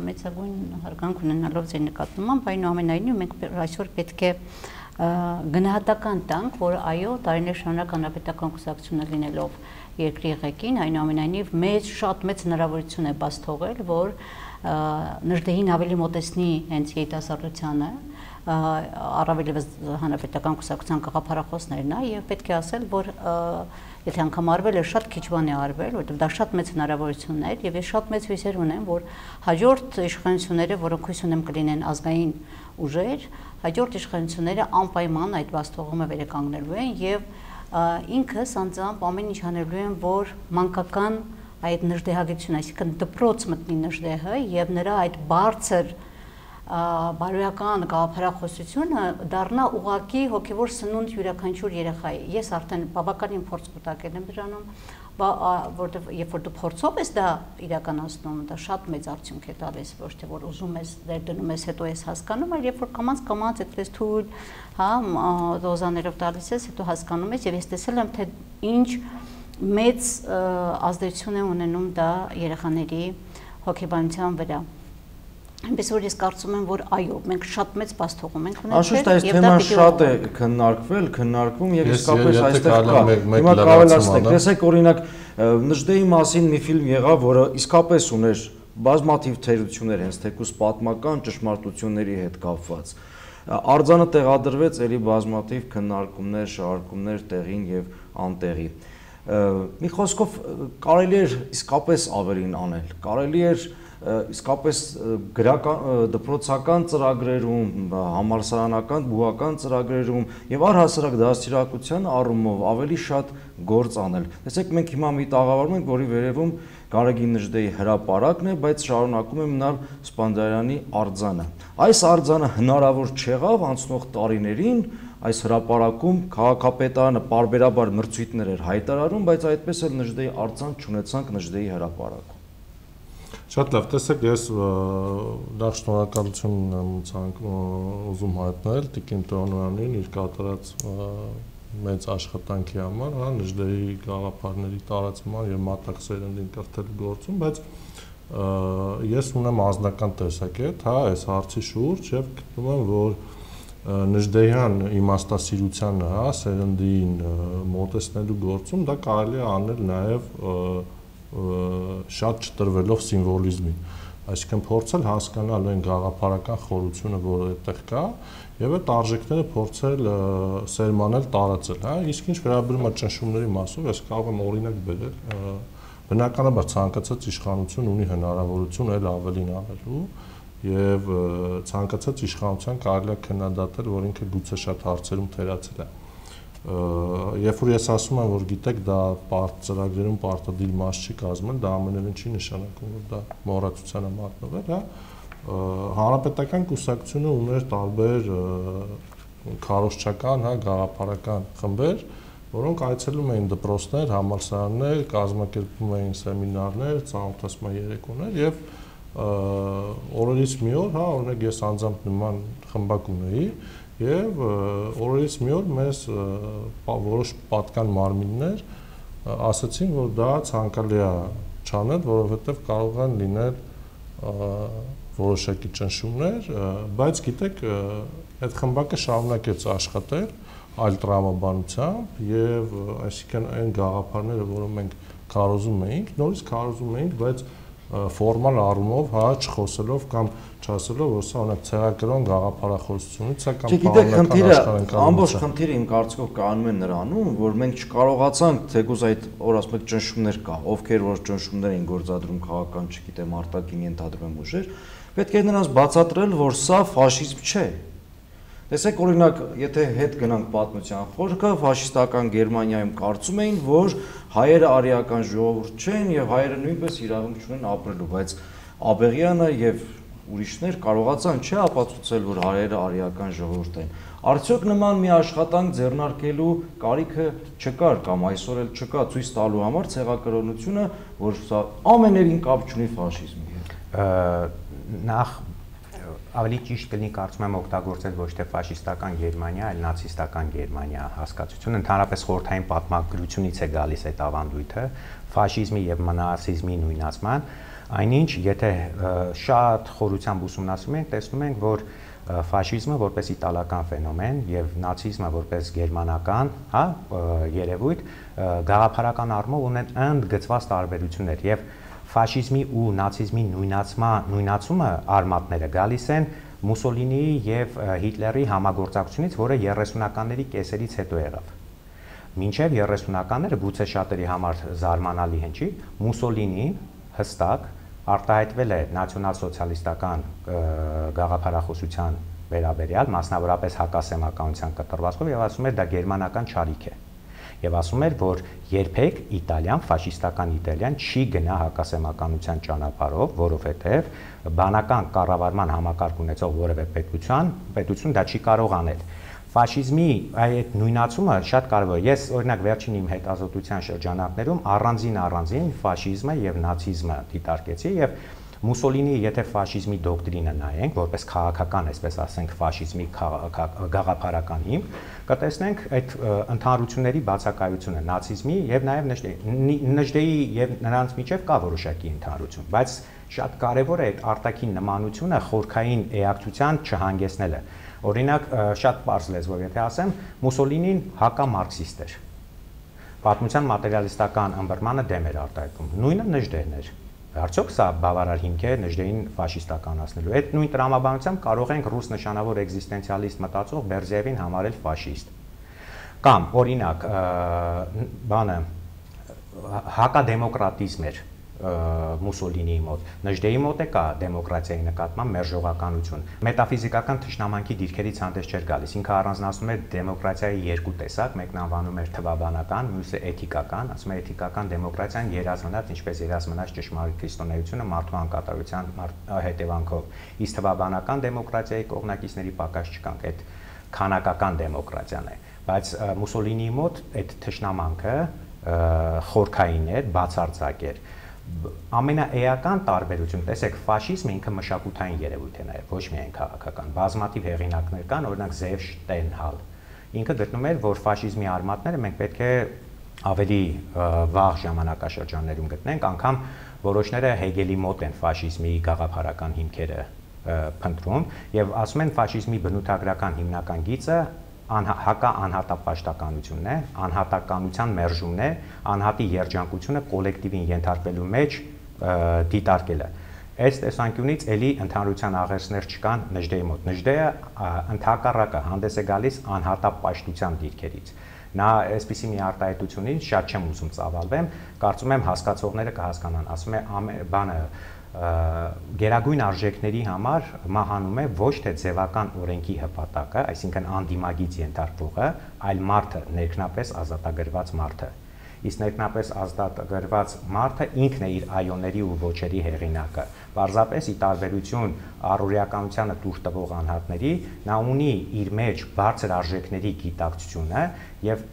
մեծագույն հարգանք ունենալով ձեր նկատմամբ, այնուամենայնիվ մենք այսօր պետք է գնահատական տանք, որ այո, տարիներ շարունակ հանրապետական կուսակցությունը լինելով երկրի ղեկին, այնուամենայնիվ մեծ շատ մեծ հնարավորություն է բաց թողել, որ Նժդեհին ավելի մոտեցնի հենց երիտասարդությանը, առավել ևս հանրապետական կուսակցության գաղափարախոսներն է, եւ պետք է ասել, որ եթե անգամ արվել է, շատ քիչ բան է արվել, որովհետեւ դա շատ մեծ հնարավորություն էր, եւ ես շատ մեծ հույսեր ունեմ, որ հաջորդ իշխանությունները, որոնք հույս ունեմ կլինեն ազգային ուժեր, հաջորդ իշխանությունները անպայման այդ բաց թողումը վերականգնելու են եւ ինքս անձամբ ամեն ինչ անելու եմ, որ մանկական այդ Նժդեհագիտությունը, այսինքն դպրոց մտնի Նժդեհը եւ նրա այդ բարձր բարոյական գաղափարախոսությունը դառնա ուղղակի հոգեվոր սնունդ յուրաքանչյուր երեխայի։ Ես արդեն բավականին փորձ կուտակել եմ դրանում, որտեղ երբ որ դու փորձով ես դա իրականացնում, դա շատ մեծ արդյունք է տալիս, ոչ թե որ ուզում ես դեր դնում ես, հետո ես հասկանում, այլ երբ որ կամած կամած այդպես թույլ, հա, դոզաներով տալիս ես, հետո հասկանում ես եւ ես տեսել եմ, թե ինչ մեծ ազդեցություն է ունենում դա երեխաների հոգեբանության վրա։ Այնպես որ ես կարծում եմ, որ այո, մենք շատ մեծ բաց թողում ենք ունեցել եւ դա թեման շատ է քննարկվել, քննարկվում եւ իսկապես այստեղ կա։ Հիմա կավելացնենք, տեսեք օրինակ Նժդեհի մասին մի ֆիլմ եղավ, որը իսկապես ուներ բազմաթիվ թերություններ, հենց թեկուզ պատմական ճշմարտությունների հետ կապված։ Արձանը տեղադրվեց ելի բազմաթիվ քննարկումներ, շարժումներ տեղին եւ անտեղի։ Մի խոսքով կարելի էր իսկապես ավելին անել, կարելի էր իսկապես դպրոցական ծրագրերում, համալսարանական, բուհական ծրագրերում եւ առհասարակ դաստիարակության առումով ավելի շատ գործ անել։ Տեսեք, մենք հիմա մի տաղավարում ենք, որի վերևում Գարեգին Նժդեհի հրապարակն է, բայց շարունակում է մնալ Սպանդիարյանի արձանը։ Այս արձանը հնարավոր չեղավ անցնող տարիներին, այս հրապարակում քաղաքապետարանը պարբերաբար մրցույթներ էր հայտարարում, բայց այդպես էլ Նժդեհի արձան չունեցանք Նժդեհի հրապարակում։ Շատ լավ, տեսեք, ես նախ շնորհակալություն եմ ուզում հայտնել Տիկին Տոնոյանին իր կատարած մեծ աշխատանքի համար, հա, Նժդեհի գաղափարների տարածման եւ մատակ սերնդին կրթելու գործում, բայց ես ունեմ անձնական տեսակետ, հա, այս հարցի շուրջ եւ գտնում եմ, որ Նժդեհյան իմաստասիրությանը, հա, սերնդին մոտեցնելու գործում դա կարելի է անել նաեւ շատ չտրվելով սիմվոլիզմին, այսինքն փորձել հասկանալ այն գաղափարական խորությունը, որը այդտեղ կա, եւ այդ արժեքները փորձել սերմանել, տարածել, հա, իսկ ինչ վերաբերում է ճնշումների մասով, ես կարող եմ օրինակ բերել, բնականաբար ցանկացած իշխանություն ունի հնարավորություն այլ ավելին անելու եւ ցանկացած իշխանության կարելի է քննադատել, որ ինքը գուցե շատ հարցերում թերացել է։ Երբ որ ես ասում եմ, որ գիտեք, դա ծրագրերում պարտադիր մաս չի կազմել, դա ամենևին չի նշանակում, որ դա մոռացության է մատնվել, հա։ Հանրապետական կուսակցությունը ուներ տարբեր քարոզչական, հա, գաղափարական խմբեր, որոնք այցելում էին դպրոցներ, համալսարաններ, կազմակերպում էին սեմինարներ, ծանոթացման երեկոներ եւ օրերից մի օր, հա, օրինակ ես անձամբ նման խմբակ ունեի եւ օրերից մի օր մեզ որոշ պատկան մարմիններ ասացին, որ դա ցանկալի է չանել, որովհետեւ կարող են լինել որոշակի ճնշումներ, բայց գիտեք, այդ խմբակը շարունակեց աշխատել այլ տրամաբանությամբ եւ այսինքն այն գաղափարները, որոնք մենք քարոզում էինք, նորից քարոզում էինք, բայց ֆորմալ առումով, հա, չխոսելով կամ չասելով, որ սա ունի ցեղակրոն գաղափարախոսությունից է կամ պարոնական աշխարհընկալումից։ Ամբողջ խնդիրը իմ կարծիքով կանում է նրանում, որ մենք չկարողացանք թեկուզ այդ օր ասում եք ճնշումներ կա, ովքեր որ ճնշումներ էին գործադրում քաղաքական, չգիտեմ, արտաքին ենթադրում եմ ուժեր, պետք է նրանց բացատրել, որ սա ֆաշիզմ չէ։ Տեսեք, օրինակ, եթե հետ գնանք պատմության խորքը, ֆաշիստական Գերմանիայում կարծում էին, որ հայերը արիական ժողովուրդ չեն եւ հայերը նույնպես իրավունք չունեն ապրելու, բայց Աբեղյանը եւ ուրիշներ կարողացան չէ ապացուցել, որ հայերը արիական ժողովուրդ են։ Արդյոք նման մի աշխատանք ձեռնարկելու կարիքը չկար կամ այսօր էլ չկա ցույց տալու համար ցեղակրոնությունը, որ սա ամենևին կապ չունի ֆաշիզմի հետ։ Նախ ավելի ճիշտ կլինի կարծում եմ օգտագործել ոչ թե ֆաշիստական Գերմանիա, այլ նացիստական Գերմանիա հասկացությունը, ընդհանրապես խորհրդային պատմագրությունից է գալիս այդ ավանդույթը, ֆաշիզմի եւ նացիզմի նույնացման, այնինչ եթե շատ խորությամբ ուսումնասիրում ենք, տեսնում ենք, որ ֆաշիզմը որպես իտալական ֆենոմեն եւ նացիզմը որպես գերմանական, հա, երևույթ գաղափարական առումով ունեն ընդգծված տարբերություններ եւ ֆաշիզմի ու նացիզմի նույնացման նույնացումը արմատները գալիս են Մուսոլինիի եւ Հիտլերի համագործակցությունից, որը երեսունականների կեսերից հետո եղավ։ Մինչեւ երեսունականները գուցե շատերի համար զարմանալի հնչի, Մուսոլինին հստակ արտահայտվել է նացիոնալ-սոցիալիստական գաղափարախոսության վերաբերյալ, մասնավորապես հակասեմականության կտրվածքով եւ ասում էր դա գերմանական չարիք է։ Եվ ասում էր, որ երբեք Իտալիան, ֆաշիստական Իտալիան չի գնա հակասեմականության ճանապարհով, որովհետև բանական կառավարման համակարգ ունեցող որևէ պետության, պետություն դա չի կարող անել։ Ֆաշիզմի այդ նույնացումը շատ կարևոր է։ Ես օրինակ վերջին իմ հետազոտության շրջանակներում առանձին առանձին ֆաշիզմը եւ նացիզմը դիտարկեցի եւ Մուսոլինիի եթե ֆաշիզմի դոկտրինը նայենք, որպես քաղաքական, այսպես ասենք, ֆաշիզմի գաղափարական հիմք, կտեսնենք այդ ընդհանրությունների բացակայությունը նացիզմի եւ նաեւ Նժդեի եւ նրանց միջեւ կա որոշակի ընդհանրություն, բայց շատ կարեւոր է այդ արտաքին նմանությունը խորքային էակցության չհանգեցնելը։ Օրինակ, շատ պարզ լեզվով եթե ասեմ, Մուսոլինին հակամարքսիստ էր։ Պատմության մատերիալիստական ըմբռնմանը դեմ էր արտահայտում։ Նույնը Նժդեհն էր։ Արդյոք սա բավարար հիմք է Նժդեին ֆաշիստականացնելու։ Այդ նույն տրամաբանությամբ կարող ենք ռուս նշանավոր էկզիստենցիալիստ մտածող Բերզևին համարել ֆաշիստ։ Կամ օրինակ բանը հակադեմոկրատիզմ էր Մուսոլինիի մոտ։ Նժդեի մոտ է կա դեմոկրատիայի նկատմամբ մերժողականություն։ Մետաֆիզիկական թշնամանքի դիրքերից հանդես չէր գալիս։ Ինքը առանձնացնում էր դեմոկրատիայի երկու տեսակ, մեկն անվանում էր թվաբանական, մյուսը էթիկական, ասում է էթիկական դեմոկրատիան երազմնաց, ինչպես երազմնաց ճշմարիտ քրիստոնեությունը մարդու անկատարության հետևանքով։ Իսկ թվաբանական դեմոկրատիայի կողմնակիցների պակաս չկանք, այդ քանակական դեմոկրատիան է։ Բայց Մուսոլինիի մոտ այդ թշնամանքը խորքային էր, բացարձակ էր։ Ամենաէական տարբերություն, տեսեք, ֆաշիզմը ինքը մշակութային երևույթ է նաև, ոչ միայն քաղաքական։ Բազմաթիվ հեղինակներ կան, օրինակ Զև Շտենհալ։ Ինքը գտնում էր, որ ֆաշիզմի արմատները մենք պետք է ավելի վաղ ժամանակաշրջաններում գտնենք, անգամ որոշները Հեգելի մոտ են ֆաշիզմի գաղափարական հիմքերը փնտրում եւ ասում են ֆաշիզմի բնութագրական հիմնական գիծը հակա անհատապաշտականությունն է, անհատականության մերժումն է, անհատի երջանկությունը կոլեկտիվին ենթարկվելու մեջ դիտարկելը։ Այս տեսանկյունից էլի ընդհանրության աղերսներ չկան Նժդեի մոտ։ Նժդեը ընդհակառակը հանդես է գալիս անհատապաշտության դիրքերից։ Նա այսպիսի մի արտահայտությունից շատ չեմ ուզում ծավալվեմ, կարծում եմ հասկացողները կհասկանան, ասում է բանը գերագույն արժեքների համար մահանում է ոչ թե ձևական օրենքի հպատակը, այսինքն անդիմագից ենթարկվողը, այլ մարդը, ներքնապես ազատագրված մարդը։ Իսկ ներքնապես ազատագրված մարդը ինքն է իր այոների ու ոչերի հեղինակը։ Պարզապես ի տարբերություն առօրեականությանը տուր տվող անհատների, նա ունի իր մեջ բարձր արժեքների գիտակցությունը եւ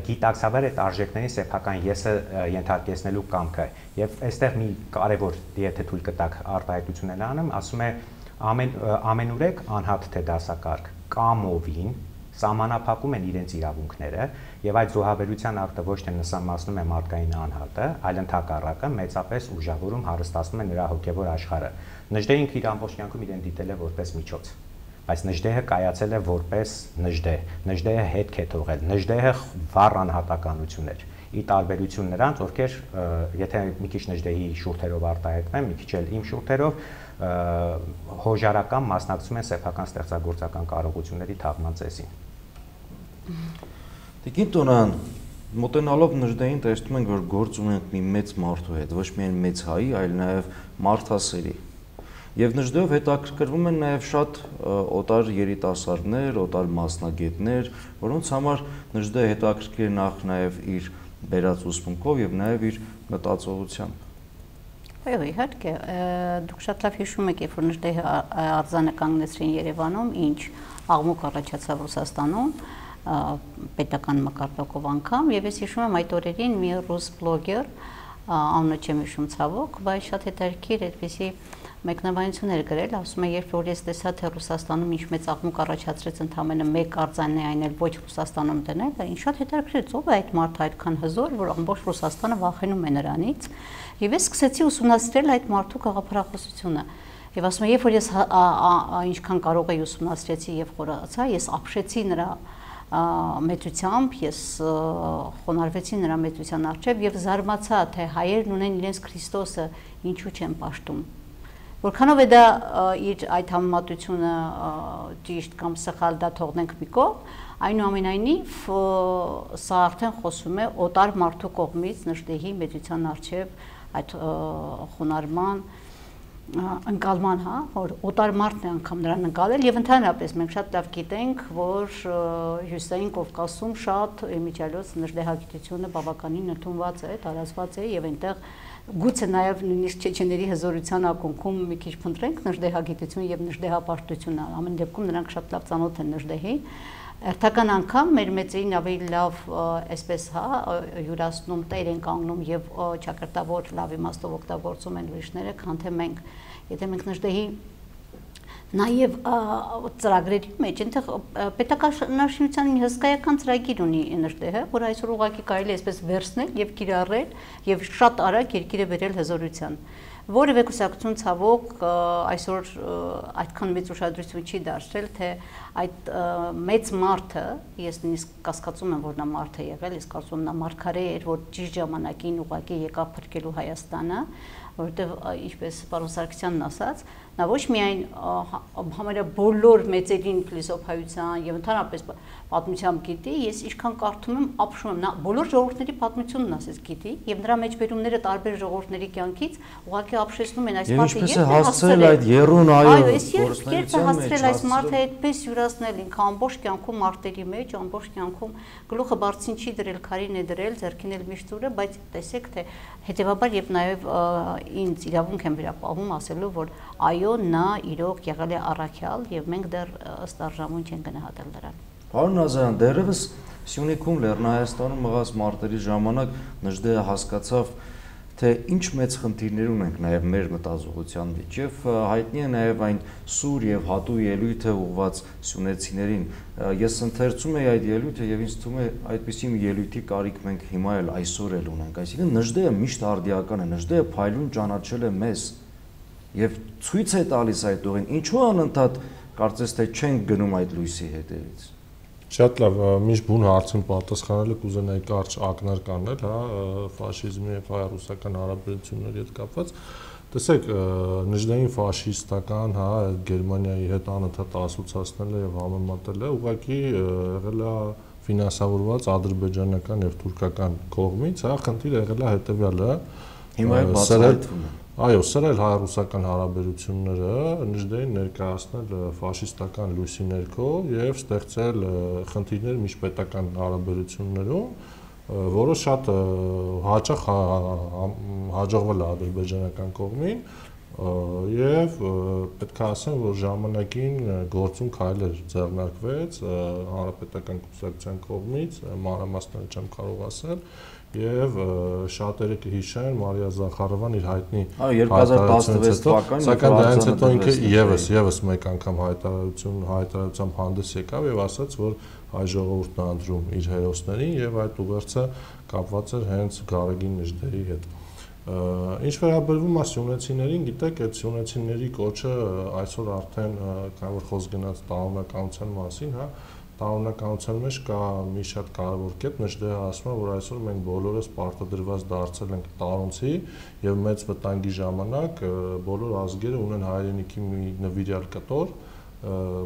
գիտակցաբար այդ արժեքների սեփական եսը ենթարկեցնելու կամքը։ Եվ այստեղ մի կարևոր, եթե թույլ կտաք արտահայտություն էլ անեմ, ասում է ամեն ամենուրեք անհատ թե դասակարգ կամովին սահմանափակում են իրենց իրավունքները եւ այդ զոհաբերության ակտը ոչ թե նսամացնում է մարդկային անհատը, այլ ընդհակառակը մեծապես ուժավորում հարստացնում է նրա հոգեվոր աշխարհը։ Նժդեհը ինքը իր ամբողջ կյանքում իրեն դիտել է որպես միջոց, բայց Նժդեհը կայացել է որպես Նժդեհ, Նժդեհը հետք է թողել, Նժդեհը վառ անհատականություն էր, ի տարբերություն նրանց, ովքեր եթե մի քիչ Նժդեհի շուրթերով արտահայտվեն, մի քիչ էլ իմ շուրթերով հոժարական մասնակցում են սեփական ստեղծագործական կարողությունների թաղման ծեսին։ Տիկին Տոնյան, մոտենալով Նժդեհին տեսնում ենք, որ գործ ունենք մի մեծ մարդու հետ, ոչ միայն մեծ հայի, այլ նաև մարդասերի։ Եվ Նժդեհով հետաքրքրվում են նաև շատ օտար երիտասարդներ, օտար մասնագետներ, որոնց համար Նժդեհը հետաքրքիր է նախ նաև իր բերած ուսմունքով եւ նաև իր մտածողությամբ։ Այո, իհարկե, դուք շատ լավ հիշում եք, երբ որ Նժդեհը արձանը կանգնեցրին Երևանում, ինչ աղմուկ առաջացավ Ռուսաստանում, պետական մակարդակով անգամ, եւ ես հիշում եմ այդ օրերին մի ռուս բլոգեր, անունը չեմ հիշում ցավոք, բայց շատ հետաքրքիր այդպեսի մեկնաբանություն էր գրել, ասում է, երբ որ ես տեսա, թե Ռուսաստանում ինչ մեծ աղմուկ առաջացրեց ընդամենը մեկ արձանն է այն էլ ոչ Ռուսաստանում դնել, ինչ շատ հետաքրքիր, ով է այդ մարդը այդքան հզոր, որ ամբողջ Ռուսաստանը վախենում է նրանից, եւ ես սկսեցի ուսումնասիրել այդ մարդու գաղափարախոսությունը։ Եվ ասում եմ, երբ որ ես ինչքան կարող էի ուսումնասիրեցի եւ խորացա, ես ապշեցի նրա մեծությամբ, ես խոնարհվեցի նրա մեծության առջև եւ զարմացա, թե հայերն ունեն իրենց Քրիստոսը, ինչու չեն պաշտում։ Որքանով է դա իր այդ համեմատությունը ճիշտ կամ սխալ, դա թողնենք մի կողմ, այնուամենայնիվ սա արդեն խոսում է օտար մարդու կողմից Նժդեհի մեծության առջև այդ խոնարհման ընկալման, հա, որ օտար մարդն է անգամ նրան ընկալել եւ ընդհանրապես մենք շատ լավ գիտենք, որ Հյուսիսային Կովկասում շատ իմիջիալոց նժդեհագիտությունը բավականին ընդունված է, տարածված է եւ այնտեղ գուցե նաեւ նույնիսկ չեչեների հզորության ակունքում մի քիչ փնտրենք նժդեհագիտություն եւ նժդեհապաշտությունը, ամեն դեպքում նրանք շատ լավ ծանոթ են նժդեհին։ Հերթական անգամ մեր մեծերին ավելի լավ այսպես հա յուրացնում տեր են կանգնում եւ ճակերտավոր լավ իմաստով օգտագործում են ուրիշները, քան թե մենք։ Եթե մենք Նժդեհի նաեւ ծրագրերի մեջ այնտեղ պետականաշինության մի հսկայական ծրագիր ունի Նժդեհը, որ այսօր ուղղակի կարելի է այսպես վերցնել եւ կիրառել եւ շատ արագ երկիրը բերել հզորության։ Որևէ կուսակցություն ցավոք այսօր այդքան մեծ ուշադրություն չի դարձրել, թե այդ մեծ մարդը, ես նույնիսկ կասկածում եմ, որ նա մարդ է եղել, ես կարծում եմ նա մարգարե էր, որ ճիշտ ժամանակին ուղղակի եկավ փրկելու Հայաստանը, որովհետև ինչպես պարոն Սարգսյանն ասաց, նա ոչ միայն համարյա բոլոր մեծերին փիլիսոփայության եւ ընդհանրապես պատմությամբ գիտի, ես ինչքան կարդում եմ, ապշում եմ, նա բոլոր ժողովուրդների պատմությունն ասես գիտի եւ նրա մեջբերումները տարբեր ժողովուրդների կյանքից ուղղակի ապշեցնում են այս մարդը եւ հասցրել այդ երուն այո գործնեության մեջ հասցրել այս մարդը այդպես յուրացնել ինքը ամբողջ կյանքում մարտերի մեջ, ամբողջ կյանքում գլուխը բարձին չի դրել, քարին է դրել, ձեռքին էլ միշտ ուրը, բայց տեսեք թե հետեւաբար եւ նաեւ ինձ իրավունք եմ վերապահում ասելու, որ այո, նա իրոք եղել է առաքյալ եւ մենք դեռ ըստ արժանուն չենք գնահատել նրան։ Պարոն Նազարյան, դեռևս Սյունիքում Լեռնահայաստանում մղած մարտերի ժամանակ Նժդեհը հասկացավ, թե ինչ մեծ խնդիրներ ունենք նաև մեր մտածողության մեջ եւ հայտնի է նաև այն սուր եւ հատու ելույթը ուղված սյունեցիներին։ Ես ընթերցում եի այդ ելույթը եւ ինձ թվում է այդպիսի մի ելույթի կարիք մենք հիմա էլ այսօր էլ ունենք։ Այսինքն Նժդեհը միշտ արդիական է, Նժդեհը փայլուն ճանաչել է մեզ եւ ցույց է տալիս այդ ուղին։ Ինչու անընդհատ կարծես թե չենք գնում այդ լույսի հետևից։ Շատ լավ, միշտ բուն հարցին պատասխանելը կուզենայի կարճ ակնարկ անել, հա, ֆաշիզմի եւ հայ-ռուսական հարաբերությունների հետ կապված։ Տեսեք, Նժդեհին ֆաշիստական, հա, Գերմանիայի հետ անընդհատ ասոցացնել է եւ համեմատել է, ուղղակի եղել է ֆինանսավորված ադրբեջանական եւ թուրքական կողմից, հա, խնդիրը եղել է հետեւյալը։ Հիմա է բացահայտվում է։ Այո, սրել հայ-ռուսական հարաբերությունները, Նժդեհին ներկայացնել ֆաշիստական լույսի ներքո եւ ստեղծել խնդիրներ միջպետական հարաբերություններում, որը շատ հաճախ հաջողվել է ադրբեջանական կողմին, Եվ պետք է ասեմ, որ ժամանակին գործում քայլեր ձեռնարկվեց հանրապետական կուսակցության կողմից, մանրամասները չեմ կարող ասել, եւ շատերը կհիշեն Մարիա Զախարովան իր հայտնի երկու հազար տասնվեց թվականին, սակայն դրանից հետո ինքը եւս եւս մեկ անգամ հայտարարություն հայտարարությամբ հանդես եկավ եւ ասաց, որ հայ ժողովուրդն է ընտրում իր հերոսներին եւ այդ ուղերձը կապված էր հենց Գարեգին Նժդեհի հետ։ Ինչ վերաբերվում է սյունեցիներին, գիտեք, այդ սյունեցիների կոչը այսօր արդեն քանի որ խոսք գնաց տարօրինականության մասին, հա, տարօրինականության մեջ կա մի շատ կարևոր կետ, Նժդեհը ասում է, որ այսօր մենք բոլորս պարտադրված դարձել ենք տարոնցի եւ մեծ վտանգի ժամանակ բոլոր ազգերը ունեն հայրենիքի մի նվիրյալ կտոր,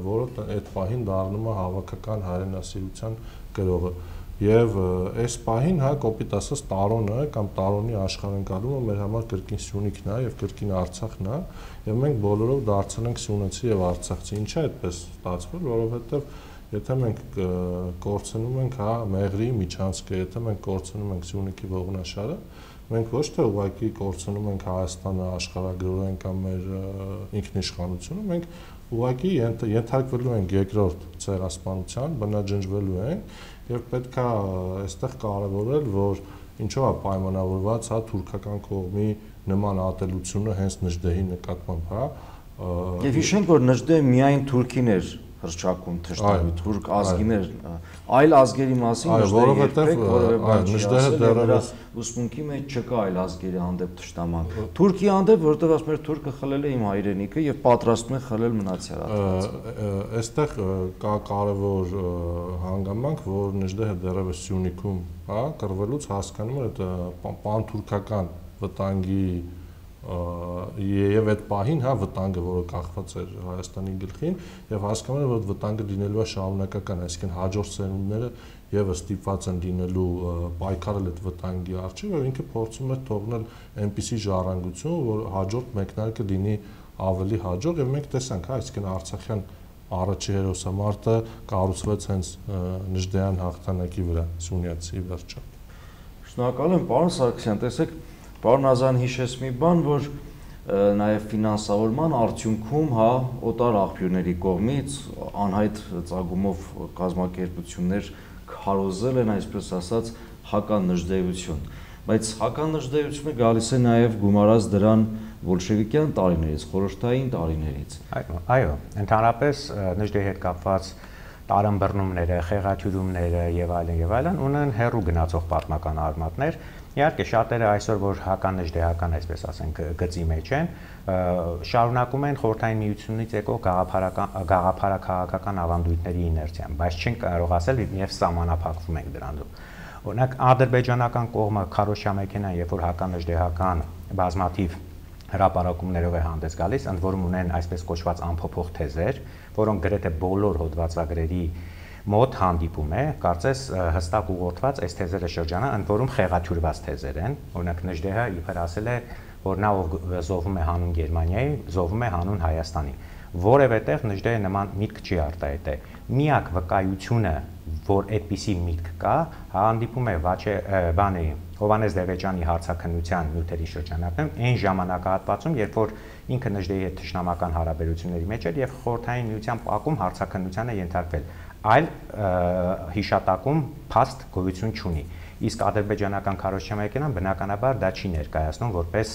որը այդ պահին դառնում է հավաքական հայրենասիրության կրողը։ Եվ այս պահին, հա, կոպիտ ասած տարոնը կամ տարոնի աշխարհընկալումը մեր համար կրկին Սյունիքն է եւ կրկին Արցախն է, եւ մենք բոլորով դարձել ենք սյունեցի եւ արցախցի։ Ինչա այդպես ստացվել, որովհետեւ եթե մենք կորցնում ենք, հա, Մեղրի միջանցքը, եթե մենք կորցնում ենք Սյունիքի ողնաշարը, մենք ոչ թե ուղղակի կորցնում ենք Հայաստանը աշխարհագրորեն կամ մեր ինքնիշխանությունը, մենք ուղղակի ենթարկվելու ենք երկրորդ ցեղասպանության, բնաջնջվելու ենք եւ պետք է այստեղ կարևորել, որ ինչով է պայմանավորված, հա, թուրքական կողմի նման ատելությունը հենց Նժդեհի նկատմամբ, հա։ Եվ հիշենք, որ Նժդեհը միայն թուրքին էր հռչակում թշնամի, թուրք ազգիներ, այլ ազգերի մասին Նժդեհը դեռևս ուսմունքի մեջ չկա այլ ազգերի հանդեպ թշնամանք։ Թուրքի հանդեպ, որտեղ ասում էր թուրքը խլել է իմ հայրենիքը եւ պատրաստում է խլել մնացյալ ազգը։ Այստեղ կա կարևոր հանգամանք, որ Նժդեհը դեռևս Սյունիքում, հա, կռվելուց հասկանում էր այդ պանթուրքական վտանգի եւ այդ պահին, հա, վտանգը, որը կախված էր Հայաստանի գլխին, եւ հասկանում էր, որ վտանգը լինելու է շարունակական, այսինքն հաջորդ սերունդները եւս ստիպված են լինելու պայքարել այդ վտանգի առջեւ, եւ ինքը փորձում էր թողնել այնպիսի ժառանգություն, որ հաջորդ մեկնարկը լինի ավելի հաջող, եւ մենք տեսանք, հա, այսինքն Արցախյան առաջի հերոսամարտը կառուցվեց հենց Նժդեհյան հաղթանակի վրա, Սյունյացի վերջը։ Շնորհակալ եմ, պարոն Սարգսյան, տեսեք, պարոն Ազան հիշեց մի բան, որ նաև ֆինանսավորման արդյունքում, հա, օտար աղբյուրների կողմից անհայտ ծագումով կազմակերպություններ քարոզել են, այսպես ասած, հականնժդեհություն, բայց հականնժդեհությունը գալիս է նաև գումարած դրան բոլշևիկյան տարիներից, խորհրդային տարիներից։ Այո, ընդհանրապես Նժդեհի հետ կապված տարանբռնումները, խեղաթյուրումները եւ այլն եւ այլն ունեն հեռու գնացող պատմական արմատներ։ Իհարկե շատերը այսօր որ հականնժդեհական, այսպես ասենք, գծի մեջ են, շարունակում են խորհրդային միությունից եկող գաղափարաքաղաքական ավանդույթների իներցիան, բայց չեն կարող ասել եւ սահմանափակվում ենք դրանով։ Օրինակ ադրբեջանական կողմը քարոշչամեքենան, երբ որ հականնժդեհական բազմաթիվ հրապարակումներով է հանդես գալիս, ընդ որում ունեն այսպես կոչված անփոփոխ թեզեր, որոնք գրեթե բոլոր հոդվածագրերի մոտ հանդիպում է, կարծես հստակ ուղղորդված այս թեզերը շրջանը, ընդ որում խեղաթյուրված թեզեր են, օրինակ Նժդեհը իբր ասել է, որ նա ով զոհվում է հանուն Գերմանիայի, զոհվում է հանուն Հայաստանի, որևէ տեղ Նժդեհը նման միտք չի արտահայտել։ Միակ վկայությունը, որ այդպիսի միտք կա, հանդիպում է Վաչե բանի Հովհաննես Դևեջյանի հարցաքննության նյութերի շրջանակում, այն ժամանակահատվածում, երբ որ ինքը Նժդեհի հետ թշնամական հարաբերությունների մեջ էր եւ խորհրդային միության պակում հարցաքննության է ենթարկվել, այլ հիշատակում փաստ գոյություն չունի։ Իսկ ադրբեջանական քարոզչամեքենան բնականաբար դա չի ներկայացնում որպես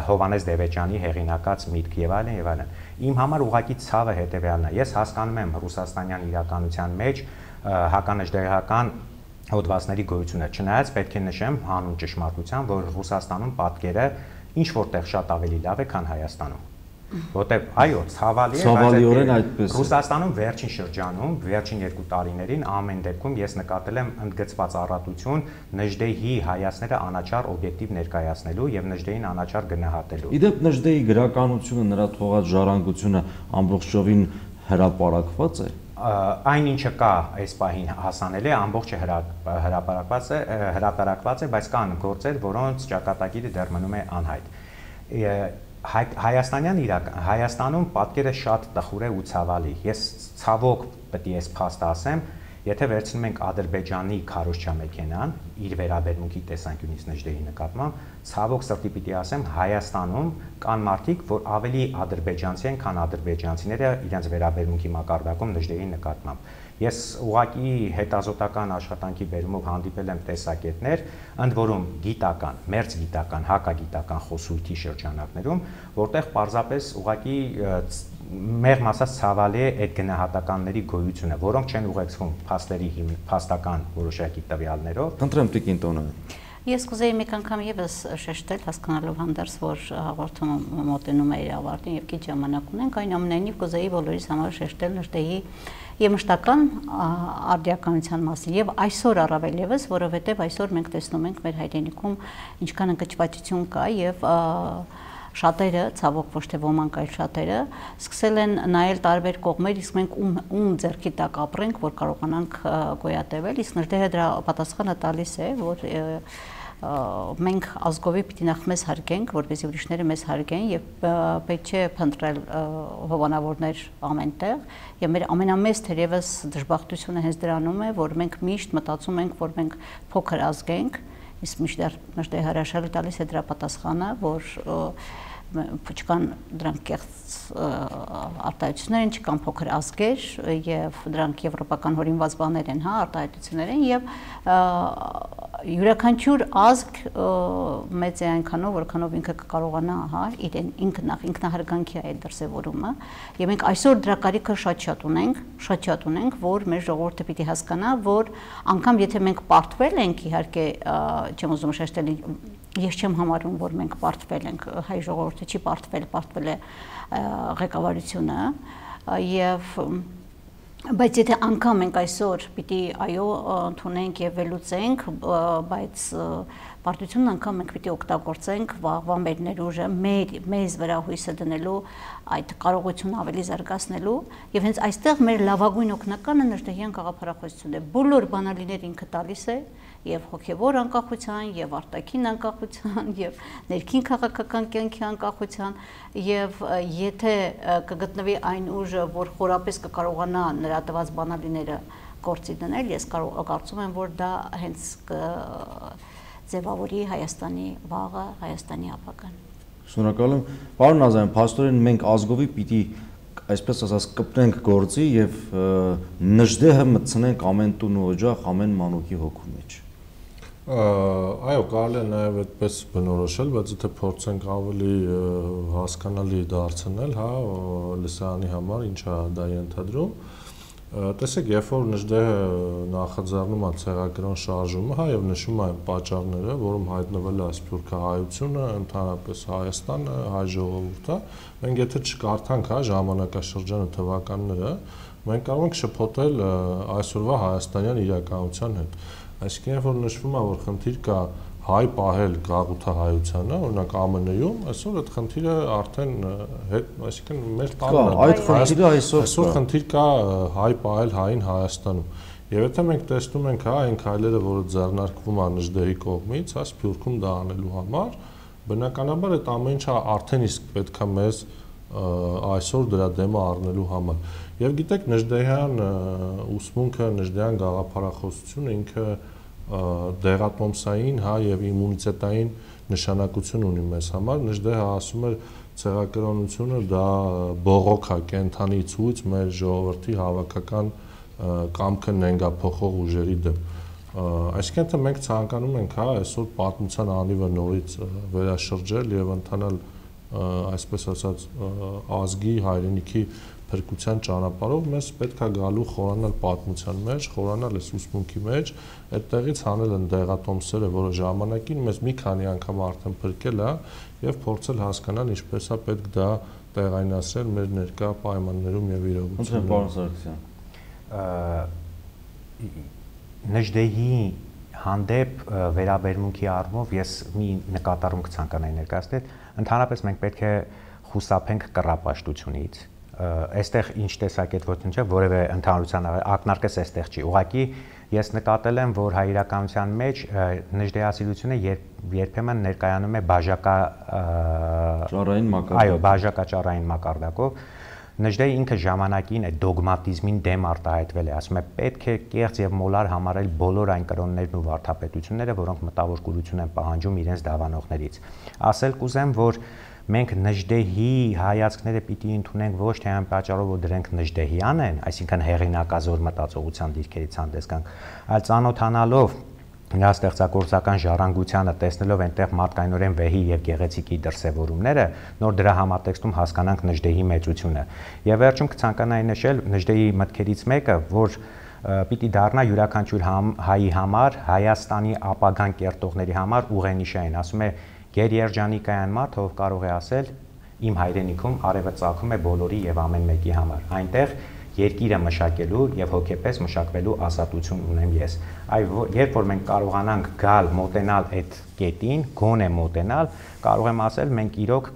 Հովհաննես Դևեջյանի հեղինակած միտք եւ այլն եւ այլն։ Իմ համար ուղղակի ցավը հետեւյալն է։ Ես հասկանում եմ ռուսաստանյան իրականության մեջ հականնժդեհական հոդվածների գոյությունը, չնայած պետք է նշեմ հանուն ճշմարտության, որ Ռուսաստանում պատկերը ինչ որտեղ շատ ավելի լավ է, քան Հայաստանում։ Որտեղ այո, ցավալի է, բայց Ռուսաստանում վերջին շրջանում, վերջին երկու տարիներին ամեն դեպքում ես նկատել եմ ընդգծված առատություն Նժդեհի հայացքները անաչառ օբյեկտիվ ներկայացնելու եւ Նժդեհին անաչառ գնահատելու։ Իդեպ Նժդեհի գրականությունը, նրա թողած ժառանգությունը ամբողջովին հրապարակված է։ Այն ինչը կա այս պահին հասանելի է, ամբողջը հրապարակված է, հրապարակված է, բայց կան գործեր, որոնց ճակատագիրը դեռ մնում է անհայտ։ Հայաստանյան իրական Հայաստանում պատկերը շատ տխուր է ու ցավալի։ Ես ցավոք պետք է ես փաստ ասեմ, Եթե վերցնում ենք Ադրբեջանի քարոզչամեքենան, իր վերաբերմունքի տեսանկյունից Նժդեհի նկատմամբ, ցավոք սրտի պիտի ասեմ, Հայաստանում կան մարդիկ, որ ավելի ադրբեջանցի են, քան ադրբեջանցիները իրենց վերաբերմունքի մակարդակում Նժդեհի նկատմամբ։ Ես ուղղակի հետազոտական աշխատանքի բերումով հանդիպել եմ տեսակետներ, ընդ որում գիտական, մերձ գիտական, հակագիտական խոսույթի շրջանակներում, որտեղ պարզապես ուղղակի մեղմ ասած ցավալի է այդ գնահատականների գոյությունը, որոնք չեն ուղեկցվում փաստերի փաստական որոշակի տվյալներով։ Խնդրեմ Տիկին Տոնը։ Ես կուզեի մեկ անգամ եւս շեշտել, հասկանալով հանդերձ, որ հաղորդումը մոտենում է իր ավարտին եւ քիչ ժամանակ ունենք, այնուամենայնիվ կուզեի բոլորիս համար շեշտել Նժդեհի եւ մշտական արդիականության մասին եւ այսօր առավել եւս, որովհետեւ այսօր մենք տեսնում ենք մեր հայրենիքում ինչքան ընկճվածություն կա եւ շատերը, ցավոք ոչ թե ոմանք, այլ շատերը սկսել են նայել տարբեր կողմեր, իսկ մենք ում ում ձեռքի տակ ապրենք, որ կարողանանք գոյատևել, իսկ Նժդեհը դրա պատասխանը տալիս է, որ մենք ազգովի պիտի նախ մեզ հարգենք, որպեսզի ուրիշները մեզ հարգեն եւ պետք չէ փնտրել հովանավորներ ամենտեղ եւ մեր ամենամեծ թերևս դժբախտությունը հենց դրանում է, որ մենք միշտ մտածում ենք, որ մենք փոքր ազգ ենք, իսկ միշտ Նժդեհը հրաշալի տալիս է դրա պատասխանը, որ չկան դրանք կեղծ արտահայտություններ են, չկան փոքր ազգեր եւ դրանք եվրոպական հորինված բաներ են, հա, արտահայտություններ են եւ յուրաքանչյուր ազգ մեծ է այնքանով, որքանով ինքը կկարողանա, հա, իրեն ինքն նախ ինքնահարգանքի այդ դրսևորումը եւ մենք այսօր դրա կարիքը շատ-շատ ունենք, շատ-շատ ունենք, որ մեր ժողովուրդը պիտի հասկանա, որ անգամ եթե մենք պարտվել ենք, իհարկե չեմ ուզում շեշտել, ես չեմ համարում, որ մենք պարտվել ենք, հայ ժողովուրդը չի պարտվել, պարտվել է ղեկավարությունը եւ բայց եթե անգամ մենք այսօր պիտի այո ընդունենք եւ վերլուծենք, բայց պարտությունն անգամ մենք պիտի օգտագործենք վաղվա մեր ներուժը մեր մեզ վրա հույսը դնելու այդ կարողությունը ավելի զարգացնելու եւ հենց այստեղ մեր լավագույն օգնականը Նժդեհյան գաղափարախոսությունն է, բոլոր բանալիներ ինքը տալիս է եւ հոգեվոր անկախության եւ արտաքին անկախության եւ ներքին քաղաքական կյանքի անկախության եւ եթե կգտնվի այն ուժը, որ խորապես կկարողանա նրա տված բանալիները գործի դնել, ես կարծում եմ, որ դա հենց ձևավորի Հայաստանի վաղը, Հայաստանի ապագան։ Շնորհակալ եմ։ Պարոն Ազարյան, փաստորեն մենք ազգովի պիտի այսպես ասած կպնենք գործի եւ Նժդեհը մտցնենք ամեն տուն ու օջախ, ամեն մանուկի հոգու մեջ։ Այո, կարելի է նաև այդպես բնորոշել, բայց եթե փորձենք ավելի հասկանալի դարձնել, հա, լսարանի համար ինչա դա ենթադրում։ Տեսեք, երբ որ Նժդեհը նախաձեռնում է ցեղագրոն շարժումը, հա, եւ նշում է պատճառները, որում հայտնվել է սփյուռքահայությունը, ընդհանրապես Հայաստանը, հայ ժողովուրդը, մենք եթե չկարդանք, հա, ժամանակաշրջանը թվականները, մենք կարող ենք շփոթել այսօրվա հայաստանյան իրականության հետ։ Այսինքն, երբ որ նշվում է, որ խնդիր կա հայ պահել գաղութահայությանը, օրինակ Ա Մ Ն-ում, այսօր այդ խնդիրը արդեն հետ, այսինքն մեր տանը այդ խնդիրը այսօր այսօր խնդիր կա հայ պահել հային Հայաստանում։ Եվ եթե մենք տեսնում ենք, հա, այն քայլերը, որը ձեռնարկվում է Նժդեհի կողմից, հա, Սփյուռքում դա անելու համար, բնականաբար այդ ամեն ինչը արդեն իսկ պետք է մեզ այսօր դրա դեմը առնելու համար։ Եվ գիտեք, Նժդեհյան ուսմունքը, Նժդեհյան գաղափարախոսությունը ինքը դեղատոմսային, հա, եւ իմունիտետային նշանակություն ունի մեզ համար։ Նժդեհը ասում էր ցեղակրոնությունը դա բողոք է կենթանի ցույց մեր ժողովրդի հավաքական կամքը նենգափոխող ուժերի դեմ։ Այսինքն թե մենք ցանկանում ենք, հա, այսօր պատմության անիվը նորից վերաշրջել եւ ընթանալ այսպես ասած ազգի հայրենիքի փրկության ճանապարհով, մեզ պետք է գալու խորանալ պատմության մեջ, խորանալ այս ուսմունքի մեջ, այդտեղից հանել են դեղատոմսերը, որը ժամանակին մեզ մի քանի անգամ արդեն փրկել է եւ փորձել հասկանալ ինչպես է պետք դա տեղայնացնել մեր ներկա պայմաններում եւ իրողություններում։ Պարոն Սարգսյան, Նժդեհի հանդեպ վերաբերմունքի առումով ես մի նկատառում կցանկանայի ներկայացնել, ընդհանրապես մենք պետք է խուսափենք կռապաշտությունից։ Այստեղ ինչ տեսակետվություն չէ, որևէ ընդհանրության ակնարկես այստեղ չի։ Ուղղակի ես նկատել եմ, որ հայ իրականության մեջ նժդեհասիրությունը երբեմն ներկայանում է բաժակա ճառային մակարդակով։ Այո, բաժակա ճառային մակարդակով։ Նժդեհը ինքը ժամանակին այդ դոգմատիզմին դեմ արտահայտվել է, ասում է պետք է կեղծ եւ մոլար համարել բոլոր այն կրոններն ու վարդապետությունները, որոնք մտավոր կուրություն են պահանջում իրենց դավանողներից։ Ասել կուզեմ, որ մենք Նժդեհի հայացքները պիտի ընդունենք ոչ թե այն պատճառով, որ դրանք նժդեհյան են, այսինքն հեղինակազոր մտածողության դիրքերից հանդես գանք, այլ ծանոթանալով նրա ստեղծագործական ժառանգությանը, տեսնելով այնտեղ մարդկայնորեն վեհի եւ գեղեցիկի դրսեւորումները, նոր դրա համատեքստում հասկանանք Նժդեհի մեծությունը։ Եվ վերջում կցանկանայի նշել Նժդեհի մտքերից մեկը, որ պիտի դառնա յուրաքանչյուր հայի համար, Հայաստանի ապագան կերտողների համար ուղենիշային, ասում է գերերջանիկային մարդ, ով կարող է ասել իմ հայրենիքում արևը ծագում է բոլորի եւ ամեն մեկի համար։ Այնտեղ երկիրը մշակելու եւ հոգեպես մշակվելու ազատություն ունեմ ես։ Այ երբ որ մենք կարողանանք գալ մոտենալ այդ կետին, գոնե մոտենալ, կարող եմ ասել մենք իրոք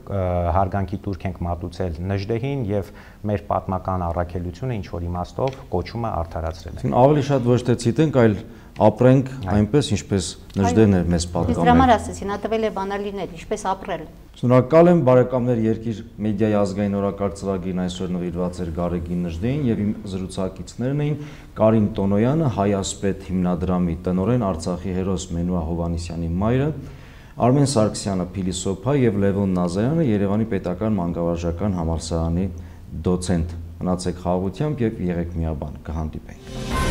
հարգանքի տուրք ենք մատուցել Նժդեհին եւ մեր պատմական առաքելությունը ինչ որ իմաստով կոչումը արդարացրել ենք։ Ավելի շատ ոչ թե ցիտենք, այլ ապրենք այնպես, ինչպես Նժդեհն էր մեզ պատկանում։ Իսկ դրամար ասեցի, նա տվել է բանալիներ, ինչպես ապրել։ Շնորհակալ եմ բարեկամներ, Երկիր մեդիայի ազգային օրակարգ ծրագիրն այսօր նվիրված էր Գարեգին Նժդեհին եւ իմ զրուցակիցներն էին Կարին Տոնոյանը, Հայասպետ հիմնադրամի տնօրեն, Արցախի հերոս Մենուա Հովհաննիսյանի մայրը, Արմեն Սարգսյանը փիլիսոփա եւ Լևոն Նազարյանը Երևանի պետական մանկավարժական համալսարանի դոցենտ։ Մնացեք խաղաղությամբ եւ եղեք միաբան, կհանդիպենք։